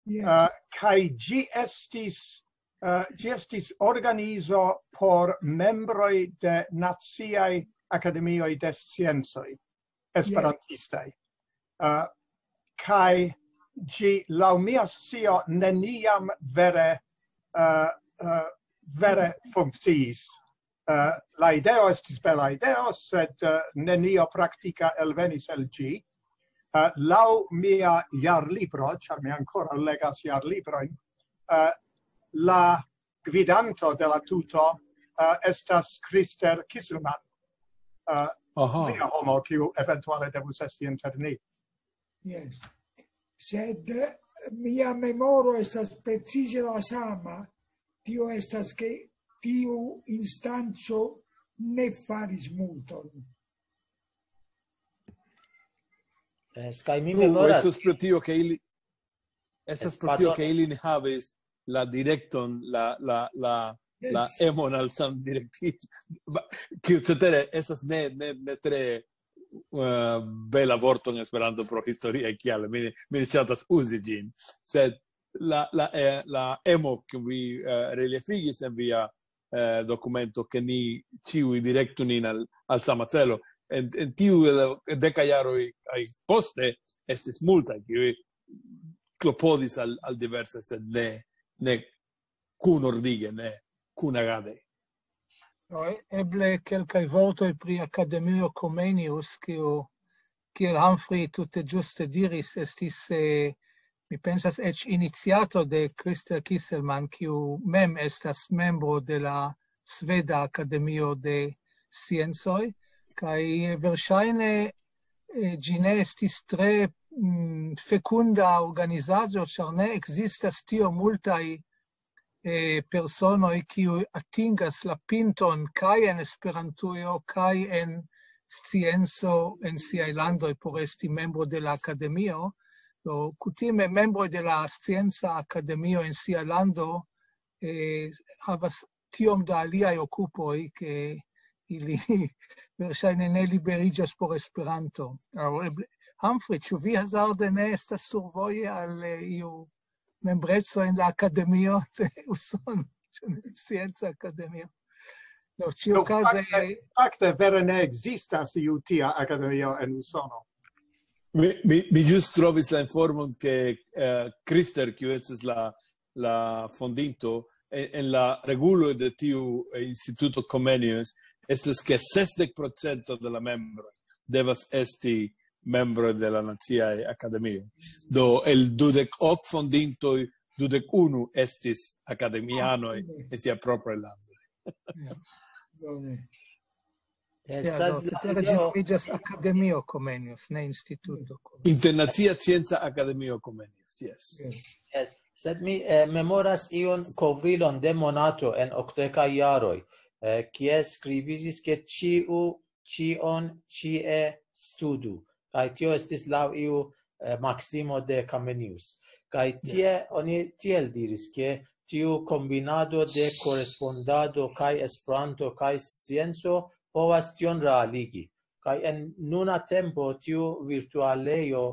Yes. Uh, kaj ĝi estis, uh, ĝi estis organizo por membroj de naciaj akademioj de sciencoj, esperantistaj. Uh, kaj ĝi, laŭ mia scio, neniam vere, uh, uh, vere funkciis. Uh, la ideo estis bela ideo, sed uh, nenio praktika elvenis el ĝi. Uh, laŭ mia jarlibro, ĉar mi ankoraŭ legas jarlibrojn, uh, la gvidanto de la tuto uh, estas Krister Kiselman. Uh, Aha. Via homo, kiu eventuale devus esti inter ni. Yes. Sed eh, mia memoro estas precize la sama, tio estas, ke tiu instanco ne faris multon. Yes, kaj mi Nu, memoras. Estas pro tio, ke ili estas pro tio, Pardon. Ke ili ne havis la direkton, la, la, la, la Yes. Emon al Sam direkti. Ba- Kiu cetere estas ne, ne, ne tre uh, bela vorto en Esperanto pro historia kial mi, ne- mi ne ŝatas uzi ĝin. Sed la, la, eh, la Emo, kiu vi uh, reliefigis en via uh, dokumento, ke ni ĉiuj direktu nin al, al sama celo. En, en tiu eh, deka jaroj kaj poste estis multaj, kiuj klopodis al, al diverse, sed ne, ne kunordige, ne kunagade. No, e- eble kelkaj vortoj pri Akademio Comenius, kiu, kiel Humphrey tute ĝuste diris, estis, eh, mi pensas, eĉ iniciato de Krister Kiselman, kiu mem estas membro de la Sveda Akademio de Sciencoj, kaj verŝajne eh, ĝi ne estis tre mm, fekunda organizaĵo, ĉar ne ekzistas tio multaj eh, personoj, kiuj atingas la pinton kaj en Esperantujo, kaj en scienco en siaj landoj por esti membro de la akademio. Do, kutime membroj de la scienca akademio en sia lando eh, havas tiom da aliaj okupoj, ke ili verŝajne ne liberiĝas por Esperanto. Aŭ eble, Humphrey, ĉu vi hazarde ne estas survoje al eh, iu membreco en la akademio de Usono, scienca akademio? No, ĉiukaze, Fakte, fakte vere ne ekzistas iu tia akademio en Usono. Mi, mi, mi ĝus trovis la informon, ke eh, Krister, kiu estas la, la fondinto, en, en la reguloj de tiu eh, instituto Comenius, estas ke sesdek procento de la membroj devas esti membroj de la Naciaj Akademioj. Do, el dudek ok fondintoj, dudek unu estis akademianoj en sia propra lando. Bone. Yes, Ja, sed do, la cetere ideo- ĝi iĝas Akademio Comenius, ne instituto. Internacia Scienca Akademio Comenius, yes. Yes, sed mi eh, memoras iun kovrilon de Monato en okdekaj jaroj, eh, kie skribiĝis, ke ĉiu ĉion ĉie studu. Kaj tio estis laŭ iu eh, maksimo de Comenius. Kaj tie oni tiel diris, ke tiu kombinado de korespondado kaj Esperanto kaj scienco povas tion realigi. Kaj en nuna tempo tiu virtualejo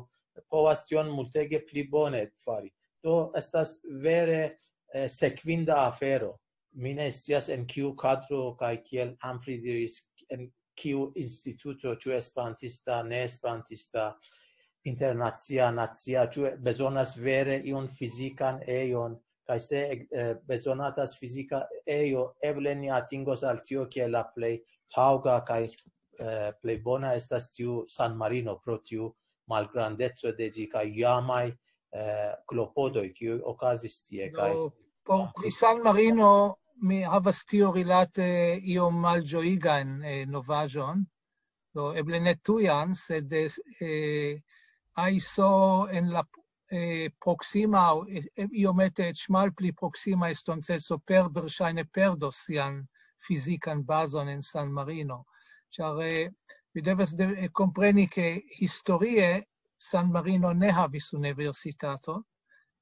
povas tion multege pli bone fari. Do estas vere eh, sekvinda afero. Mi ne scias en kiu kadro kaj kiel Humphrey diris, en kiu instituto, ĉu esperantista, ne esperantista, internacia, nacia, ĉu bezonas vere iun fizikan ejon, kaj se, eh, bezonatas fizika ejo, eble ni atingos al tio, kiel la plej taŭga kaj, eh, plej bona estas tiu San Marino, pro tiu malgrandeco de ĝi kaj jamaj, eh, klopodoj, kiuj okazis tie, kaj Do, por, pri San Marino, mi havas tio rilate iom malĝojigan, eh, novaĵon. Do, eble ne tujan, sed, eh, aiso en la, eh, proksima, aŭ, eh, iomete eĉ malpli proksima estonteco per, verŝajne perdos sian fizikan bazon en San Marino. Ĉar, eh, vi devas de, eh, kompreni, ke historie San Marino ne havis universitaton,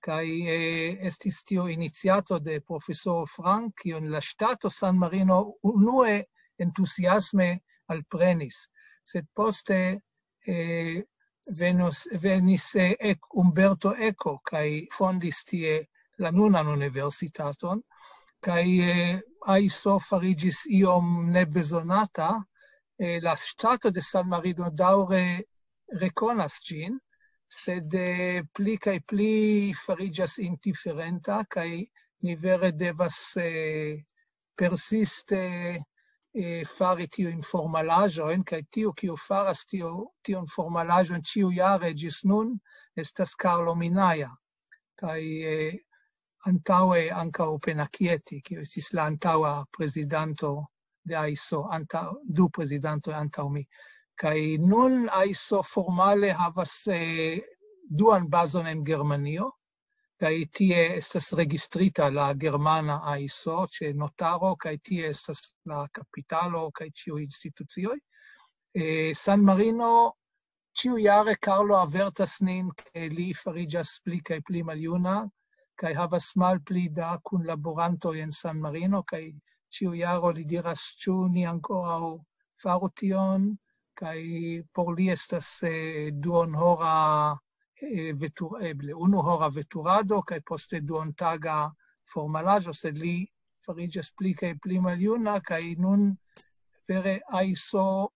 kaj, eh, estis tio iniciato de profesoro Frank, kion la ŝtato San Marino unue entuziasme alprenis, sed poste, eh, venus, venis, eh, ek, Umberto Eco kaj fondis tie la nunan universitaton, kaj, eh, aiso fariĝis iom nebezonata, eh, la ŝtato de San Marino daŭre rekonas ĝin, sed, eh, pli kaj pli fariĝas indiferenta, kaj ni vere devas, eh, persiste, eh, fari tiujn formalaĵojn, kaj tiu, kiu faras tio, tiun formalaĵon ĉiujare ĝis nun, estas Carlo Minaja. Kaj, eh, antaŭe ankaŭ Penakieti, kiu estis la antaŭa prezidanto de aiso, antaŭ, du prezidantoj antaŭ mi. Kaj nun aiso formale havas, eh, duan bazon en Germanio, kaj tie estas registrita la germana aiso ĉe notaro, kaj tie estas la kapitalo kaj ĉiuj institucioj. Eh, San Marino, ĉiujare Carlo avertas nin, ke li fariĝas pli kaj pli maljuna, kaj havas malpli da kunlaborantoj en San Marino, kaj ĉiu jaro li diras, ĉu ni ankoraŭ faru tion, kaj por li estas, eh, duonhora, eh, vetur-, eble unuhora veturado, kaj poste duontaga formalaĵo, sed li fariĝas pli kaj pli maljuna, kaj nun vere aiso,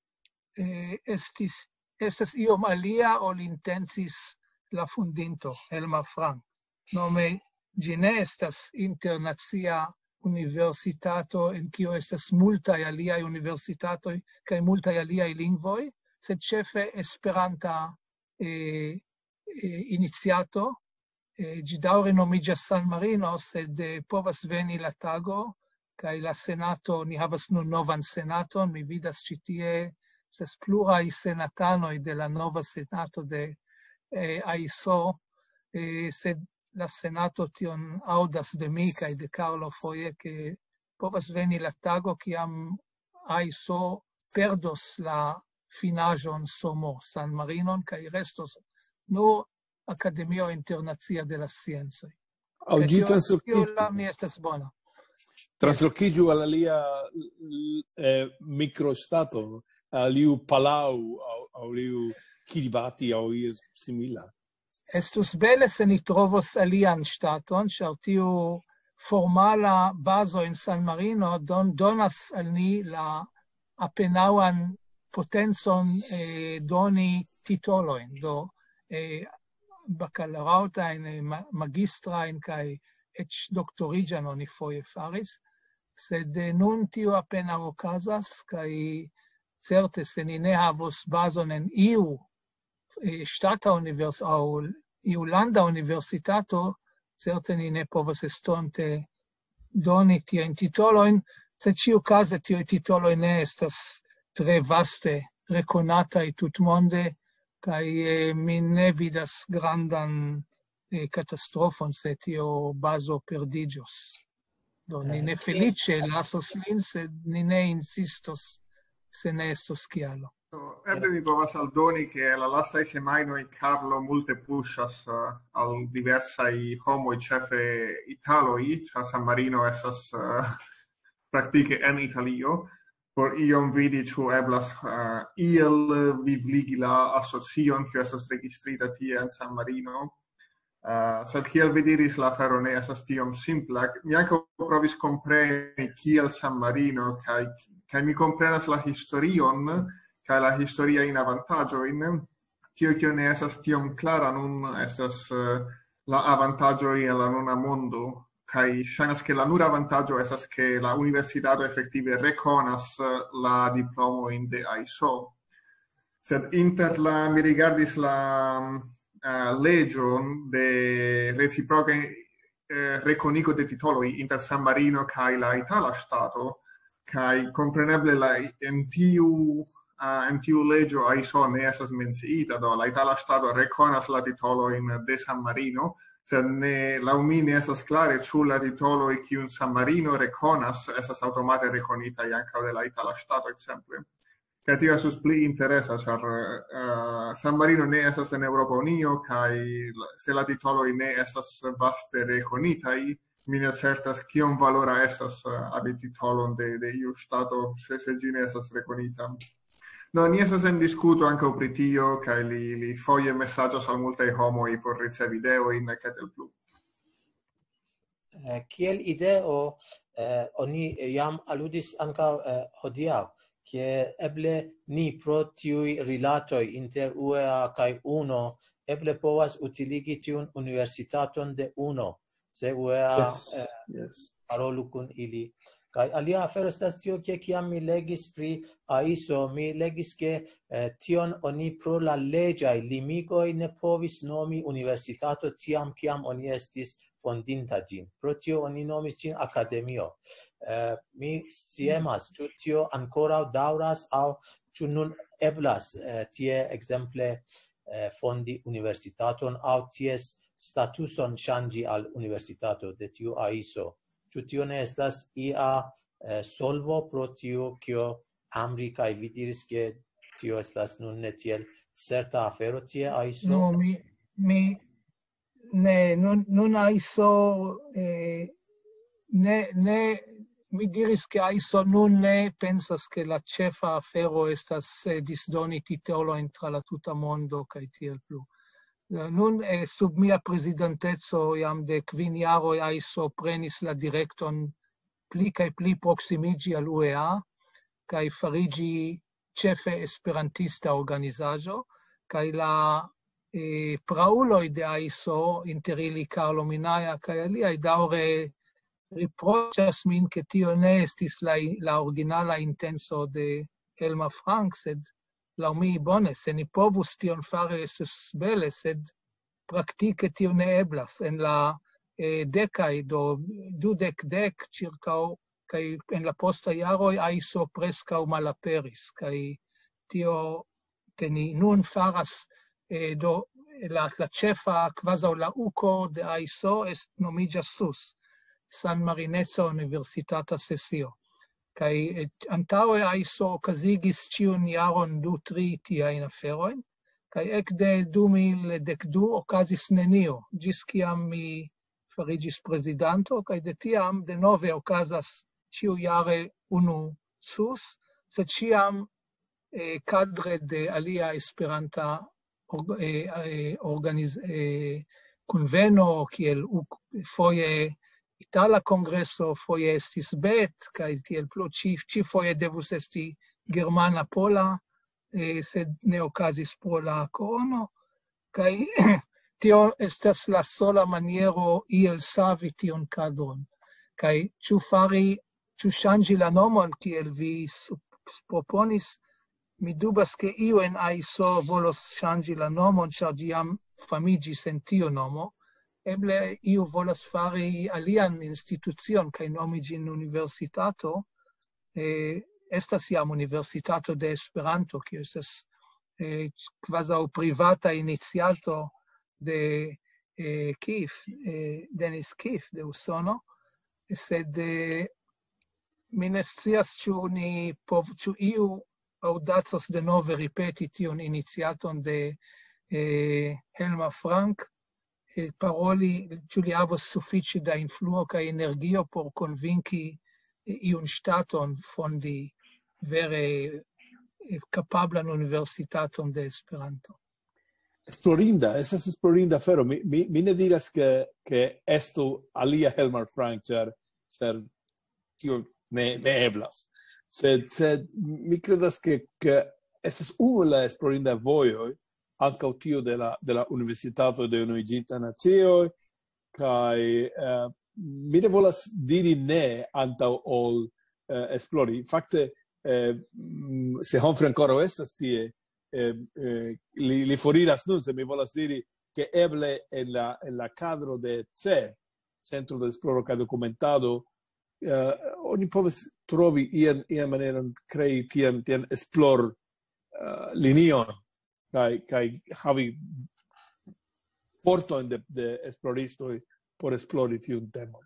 eh, estis, estas iom alia, ol intencis la fundinto, Elmar Frank. Nome, ĝi ne estas internacia universitato, en kio estas multaj aliaj universitatoj kaj multaj aliaj lingvoj, sed ĉefe esperanta, eh, eh, iniciato. Eh, ĝi daŭre nomiĝas San Marino, sed, eh, povas veni la tago, kaj la senato, ni havas nun novan senaton, mi vidas ĉi tie, estas pluraj senatanoj de la nova senato de, eh, aiso, eh, sed la senato tion aŭdas de mi kaj de Carlo foje, ke povas veni la tago, kiam aiso perdos la finaĵon somo San Marinon, kaj restos nur Akademio Internacia de la Sciencoj. Aŭ Kaj ĝi tio, translokiĝu, tio la mi estas bona. Translokiĝu al alia, eh, mikroŝtato, al iu Palau, aŭ, aŭ iu Kiribati, aŭ io simila. Estus bele, se ni trovos alian ŝtaton, ĉar tiu formala bazo en San Marino don-, donas al ni la apenaŭan potencon, eh, doni titolojn, do, eh, bakaloraŭtajn, eh, ma-, magistrajn kaj eĉ doktoriĝan oni foje faris, sed, eh, nun tio apenaŭ okazas, kaj certe, se ni ne havos bazon en iu, eh, ŝtata univers-, aŭ iu landa universitato, certe ni ne povas estonte doni tiajn titolojn, sed ĉiukaze tiuj titoloj ne estas tre vaste rekonataj tutmonde, kaj, eh, mi ne vidas grandan, eh, katastrofon, se tio bazo perdiĝos. Do, ni ne feliĉe lasos lin, sed ni ne insistos, se ne estos kialo. Do, eble mi povas aldoni, ke la lastaj semajnoj Carlo multe puŝas, eh, al diversaj homoj, ĉefe italoj, ĉar San Marino estas, eh, praktike en Italio, por iom vidi, ĉu eblas, eh, iel vivligi la asocion, kiu estas registrita tie en San Marino. Uh, sed kiel vi diris, la afero ne estas tiom simpla. Mi ankaŭ provis kompreni kiel San Marino, kaj, kaj mi komprenas la historion, kaj la historiajn avantaĝojn. Tio, kio ne estas tiom klara nun, estas uh, la avantaĝoj en la nuna mondo, kaj ŝajnas, ke la nura avantaĝo estas, ke la universitato efektive rekonas uh, la diplomojn de aiso. Sed inter la, mi rigardis la uh, leĝon de reciproka uh, rekonigo de titoloj inter San Marino kaj la itala ŝtato, kaj kompreneble la, en tiu uh, en tiu leĝo aiso ne estas menciita, do la itala ŝtato rekonas la titolojn de San Marino, sed ne, laŭ mi ne estas klare, ĉu la titoloj, kiun San Marino rekonas, estas aŭtomate rekonitaj ankaŭ de la itala ŝtato, ekzemple. Kaj tio estus pli interesa, ĉar uh, San Marino ne estas en Eŭropa Unio, kaj se la titoloj ne estas vaste rekonitaj, mi ne certas, kiom valora estas uh, havi titolon de, de iu ŝtato, se, se ĝi ne estas rekonita. No, ni estas en diskuto ankaŭ pri tio, kaj li, li foje mesaĝas al multaj homoj por ricevi ideojn, kaj tiel plu. Eh, kiel ideo, eh, oni jam aludis ankaŭ eh, hodiaŭ, ke eble ni pro tiuj rilatoj inter U E A kaj UNO eble povas utiligi tiun universitaton de UNO, se U E A Yes, eh, yes. parolu kun ili. Kaj alia afero estas tio, ke kiam mi legis pri aiso, mi legis, ke eh, tion oni pro la leĝaj limigoj ne povis nomi universitato tiam, kiam oni estis fondinta ĝin. Pro tio oni nomis ĝin akademio. Eh, mi sciemas, ĉu tio ankoraŭ daŭras aŭ ĉu nun eblas eh, tie ekzemple eh, fondi universitaton aŭ ties statuson ŝanĝi al universitato de tiu aiso. Ĉu tio ne estas ia eh, solvo pro tio, kio Amri kaj vi diris, ke tio estas nun ne tiel certa afero tie aiso? No, mi, mi, ne, nun, nun aiso, eh, ne, ne, mi diris, ke aiso nun ne pensas, ke la ĉefa afero estas eh, disdoni titolojn tra la tuta mondo kaj tiel plu. Eh, Nun eh, sub mia prezidenteco jam de kvin jaroj aiso prenis la direkton pli kaj pli proksimiĝi al U E A kaj fariĝi ĉefe esperantista organizaĵo, kaj la eh, prauloj de aiso, inter ili Carlo Minaja kaj aliaj, daŭre riproĉas min, ke tio ne estis la, la originala intenco de Helma Frank, sed laŭ mi bone, se ni povus tion fari, estus bele, sed praktike tio ne eblas. En la eh, dekaj, do dudek dek ĉirkaŭ, kaj en la posta jaroj aiso preskaŭ malaperis, kaj tio, ke ni nun faras, eh, do la, la ĉefa, kvazaŭ la uko de aiso, est nomiĝas sus, San Marineca Universitata Sesio. Kaj eh, antaŭe aiso okazigis ĉiun jaron du, tri tiajn aferojn, kaj ekde du mil dek du okazis nenio, ĝis kiam mi fariĝis prezidanto, kaj de tiam denove okazas ĉiujare unu sus, sed ĉiam eh, kadre de alia esperanta org- eh, eh, organiz- eh, kunveno, kiel uk- foje itala kongreso, foje estis bet, kaj tiel plu, ĉi, ĉi foje devus esti germana pola, eh, sed ne okazis pro la korono, kaj tio estas la sola maniero iel savi tiun kadron. Kaj ĉu fari, ĉu ŝanĝi la nomon, kiel vi sup- proponis, mi dubas, ke iu en aiso volos ŝanĝi la nomon, ĉar ĝi jam famiĝis en tiu nomo. Eble iu volas fari alian institucion kaj nomi ĝin universitato. Eh, estas jam Universitato de Esperanto, kiu estas eh, kvazaŭ privata iniciato de eh, Keith, eh, Dennis Keith de Usono, sed eh, mi ne scias, ĉu ni pov, ĉu iu aŭdacos denove ripeti tiun iniciaton de eh, Helma Frank, eh, paroli, ĉu li havos sufiĉe da influo kaj energio por konvinki eh, iun ŝtaton fondi vere eh, kapablan universitaton de Esperanto. Esplorinda, estas esplorinda afero. Mi, mi, mi ne diras, ke, ke estu alia Helmar Frank, ĉar, ĉar tio ne, ne eblas. Sed, sed mi kredas, ke, ke estas unu el la esplorinda vojoj, ankaŭ tio de la, de la Universitato de Unuiĝinta Nacioj, kaj, eh, mi ne volas diri ne antaŭ ol, eh, esplori. Fakte, eh, mm, se Humphrey ankoraŭ estas tie, eh, eh, li, li foriras nun, se mi volas diri, ke eble en la, en la kadro de C, Centro de Esploro kaj Dokumentado, eh, oni povas trovi ian, ian maneron krei tian, tian esplor, eh, linion kaj, kaj havi fortojn de, de esploristoj por esplori tiun temon.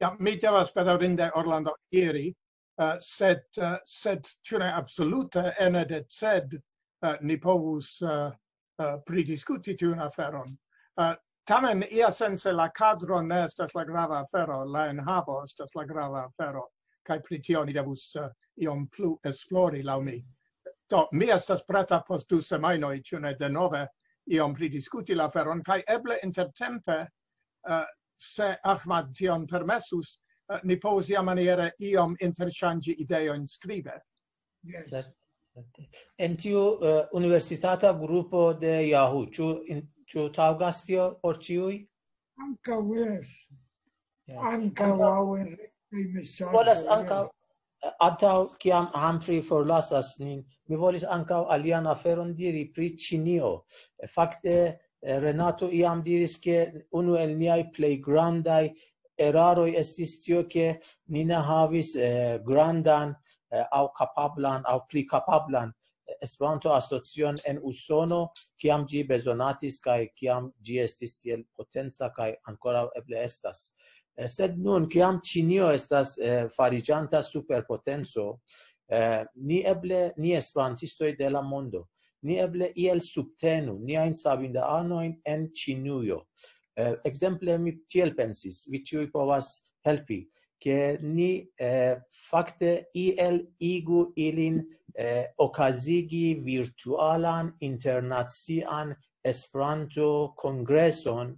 Ja, mi devas bedaŭrinde, Orlando, iri, eh, sed, eh, sed ĉu ne absolute ene de C E D, eh, ni povus, eh, eh, pridiskuti tiun aferon. Eh, tamen, iasence la kadro ne estas la grava afero, la enhavo estas la grava afero, kaj pri tio ni devus, eh, iom plu esplori, laŭ mi. Do, mi estas preta post du semajnoj, ĉu ne, denove iom pridiskuti la aferon, kaj eble intertempe, eh, se Ahmad tion permesus, eh, ni povus iamaniere iom interŝanĝi ideojn skribe. Yes. Certe, certe. En tiu, eh, universitata grupo de Yahoo, ĉu in-, ĉu taŭgas tio por ĉiuj? Ankaŭ, yes. Yes. Ankaŭ aŭ en retaj mesaĝoj, Volas yes. Ankaŭ, eh, antaŭ kiam Humphrey forlasas nin, mi volis ankaŭ alian aferon diri pri Ĉinio. Eh, fakte, eh, Renato iam diris, ke unu el niaj plej grandaj eraroj estis tio, ke ni ne havis, eh, grandan, eh, aŭ kapablan, aŭ pli kapablan, eh, Esperanto-asocion en Usono, kiam ĝi bezonatis kaj kiam ĝi estis tiel potenca kaj ankoraŭ eble estas. Eh, sed nun, kiam Ĉinio estas, eh, fariĝanta superpotenco, eh, ni eble, ni esperantistoj de la mondo, ni eble iel subtenu niajn sabindaanojn en Ĉinujo. Eh, ekzemple, mi tiel pensis, vi ĉiuj povas helpi, ke ni, eh, fakte iel igu ilin, eh, okazigi virtualan internacian Esperanto-kongreson,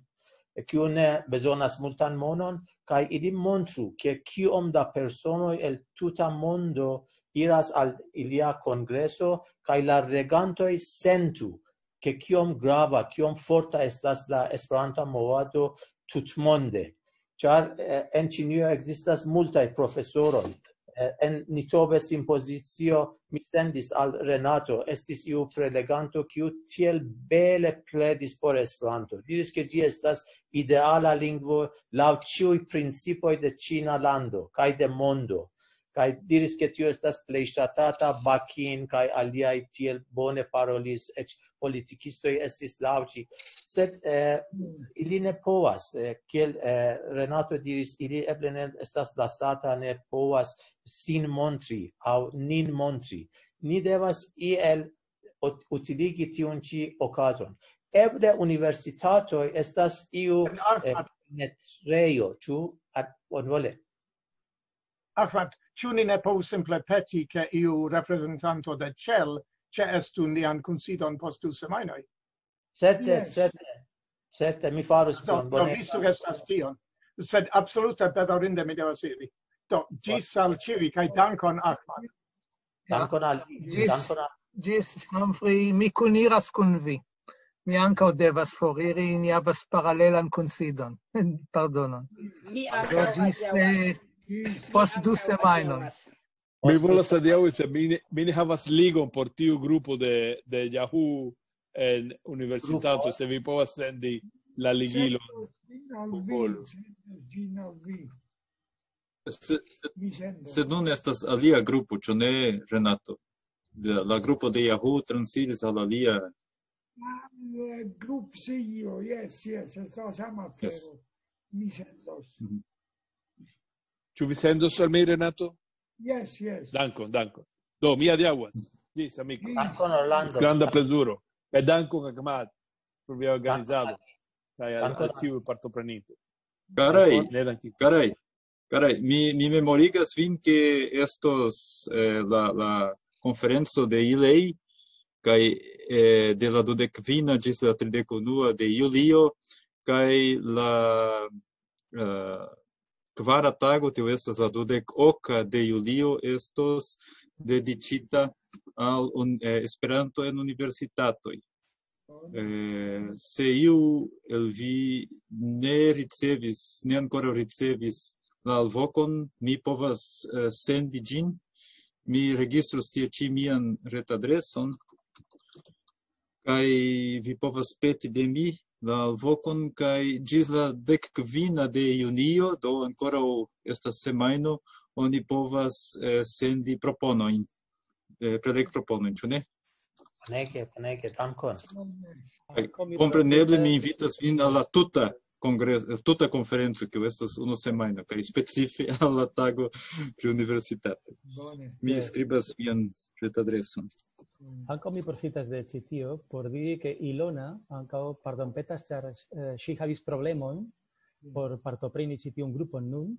kiu ne bezonas multan monon, kaj ili montru, ke kiom da personoj el tuta mondo iras al ilia kongreso, kaj la regantoj sentu, ke kiom grava, kiom forta estas la Esperanta movado tutmonde. Ĉar, eh, en Ĉinio ekzistas multaj profesoroj. Eh, en Nitobe simpozicio mi sendis al Renato, estis iu preleganto, kiu tiel bele pledis por Esperanto. Diris, ke ĝi estas ideala lingvo laŭ ĉiuj principoj de ĉina lando kaj de mondo. Kaj diris, ke tio estas plej ŝatata, Bakin kaj aliaj tiel bone parolis, eĉ politikistoj estis laŭ ĝi. Sed, eh, ili ne povas, eh, kiel, eh, Renato diris, ili eble ne estas lasata, ne povas sin montri aŭ nin montri. Ni devas iel ut-, utiligi tiun ĉi okazon. Eble universitatoj estas iu, eh, netrejo, ĉu? Ad-, bonvole. Ahmad, ĉu ni ne povus simple peti, ke iu reprezentanto de Cell ĉeestu nian kunsidon post du semajnoj? Certe, Yes. Certe, certe, mi farus Do, tion, do bone. Vi sugestas tion. Sed absolute bedaŭrinde mi devas iri. Do, ĝis al ĉiuj, kaj dankon, Ahmad. Dankon al vi, Ĝis, dankon al ĝis, Humphrey, mi kuniras kun vi. Mi ankaŭ devas foriri, ni havas paralelan kunsidon. Pardonon. Mi Do ankaŭ ĝis, adiaŭas. eh, post du semajnoj. Mi volas adiaŭi, se mi ne, mi ne havas ligon por tiu grupo de, de Yahoo en universitato, Grupo. Se vi povas sendi la ligilon. Sendos ĝin al vi, Popolo. sendos ĝin al vi. Sed, sed, Mi sendos. Sed nun estas alia grupo, ĉu ne, Renato? De, la grupo de Yahoo transiris al alia. Al, eh, grup C E O, yes, yes, estas la sama Yes. afero. Mi sendos. Mhm. Ĉu vi sendos al mi, Renato? Yes, yes. Dankon, dankon. Do, mi adiaŭas. Ĝis, amiko. Ĝis. Dankon, Orlando. Granda plezuro. Kaj dankon, Ahmad, por via organizado. Kaj al, Dankon. Al ĉiuj partopreninto. Karaj, Ne dankon. Karaj, karaj, mi, mi memorigas vin, ke estos, eh, la, la konferenco de ilej, kaj eh, de la dudek kvina ĝis la tridek unua de julio, kaj la eh, kvara tago, tio estas la dudek oka de julio, estos dediĉita al un, eh, Esperanto en universitatoj. Eh, se iu el vi ne ricevis, ne ankoraŭ ricevis la alvokon, mi povas eh, sendi ĝin. Mi registros tie ĉi mian retadreson, kaj vi povas peti de mi la alvokon, kaj ĝis la dek kvina de junio, do ankoraŭ estas semajno, oni povas eh, sendi proponojn, eh, prelegproponojn, ĉu ne? Bonege, bonege, dankon. Kompreneble mi invitas vin al la tuta kongres, tuta konferenco, kiu estas unu semajno, kaj specife al la tago pri universitato. Mi skribas mian retadreson. Ankaŭ mi profitas de ĉi tio por diri, ke Ilona ankaŭ pardonpetas, ĉar eh, ŝi havis problemon por partopreni ĉi tiun grupon nun,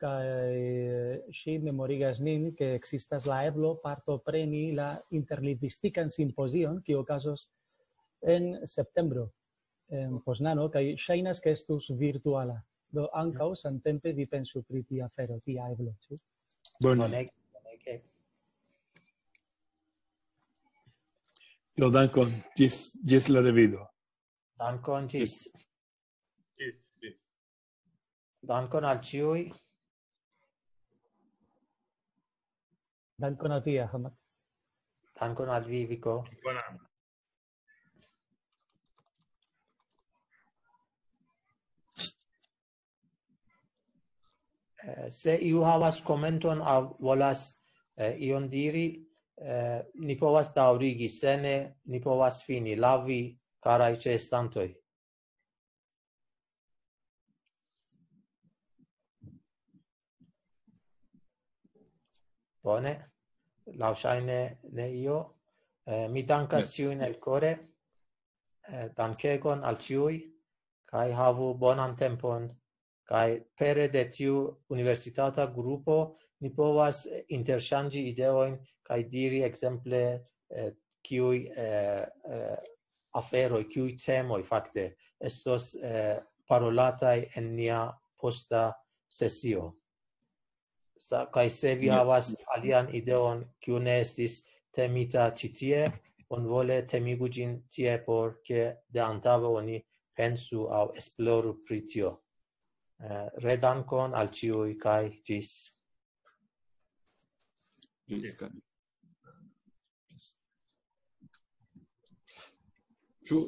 kaj eh, ŝi memorigas nin, ke ekzistas la eblo partopreni la interlingvistikan simpozion, kiu okazos en septembro en Poznano, kaj ŝajnas, ke estus virtuala. Do ankaŭ samtempe vi pensu pri tia afero, tia eblo, ĉu? Bone. Bonege, bonege. Do dankon, ĝis, ĝis la revido. Dankon, ĝis. Ĝis, ĝis. Dankon al ĉiuj. Dankon al vi, Ahmad. Dankon al vi, Viko. Bonan. Eh, Se iu havas komenton aŭ volas eh, ion diri, eh, ni povas daŭrigi, se ne, ni povas fini. Laŭ vi, karaj ĉeestantoj. Bone, laŭŝajne ne io. Eh, Mi dankas Yes. Ĉiujn el kore. Eh, Dankegon al ĉiuj, kaj havu bonan tempon. Kaj pere de tiu universitata grupo ni povas eh, interŝanĝi ideojn kaj diri ekzemple eh, kiuj eh, eh, aferoj, kiuj temoj fakte estos eh, parolataj en nia posta sesio. Sa, kaj se vi Yes. Havas alian ideon, kiu ne estis temita ĉi tie, bonvole temigu ĝin tie, por ke de antaŭe oni pensu aŭ esploru pri tio. Eh, redankon al ĉiuj kaj ĝis. Ĝis kaj. Ĉu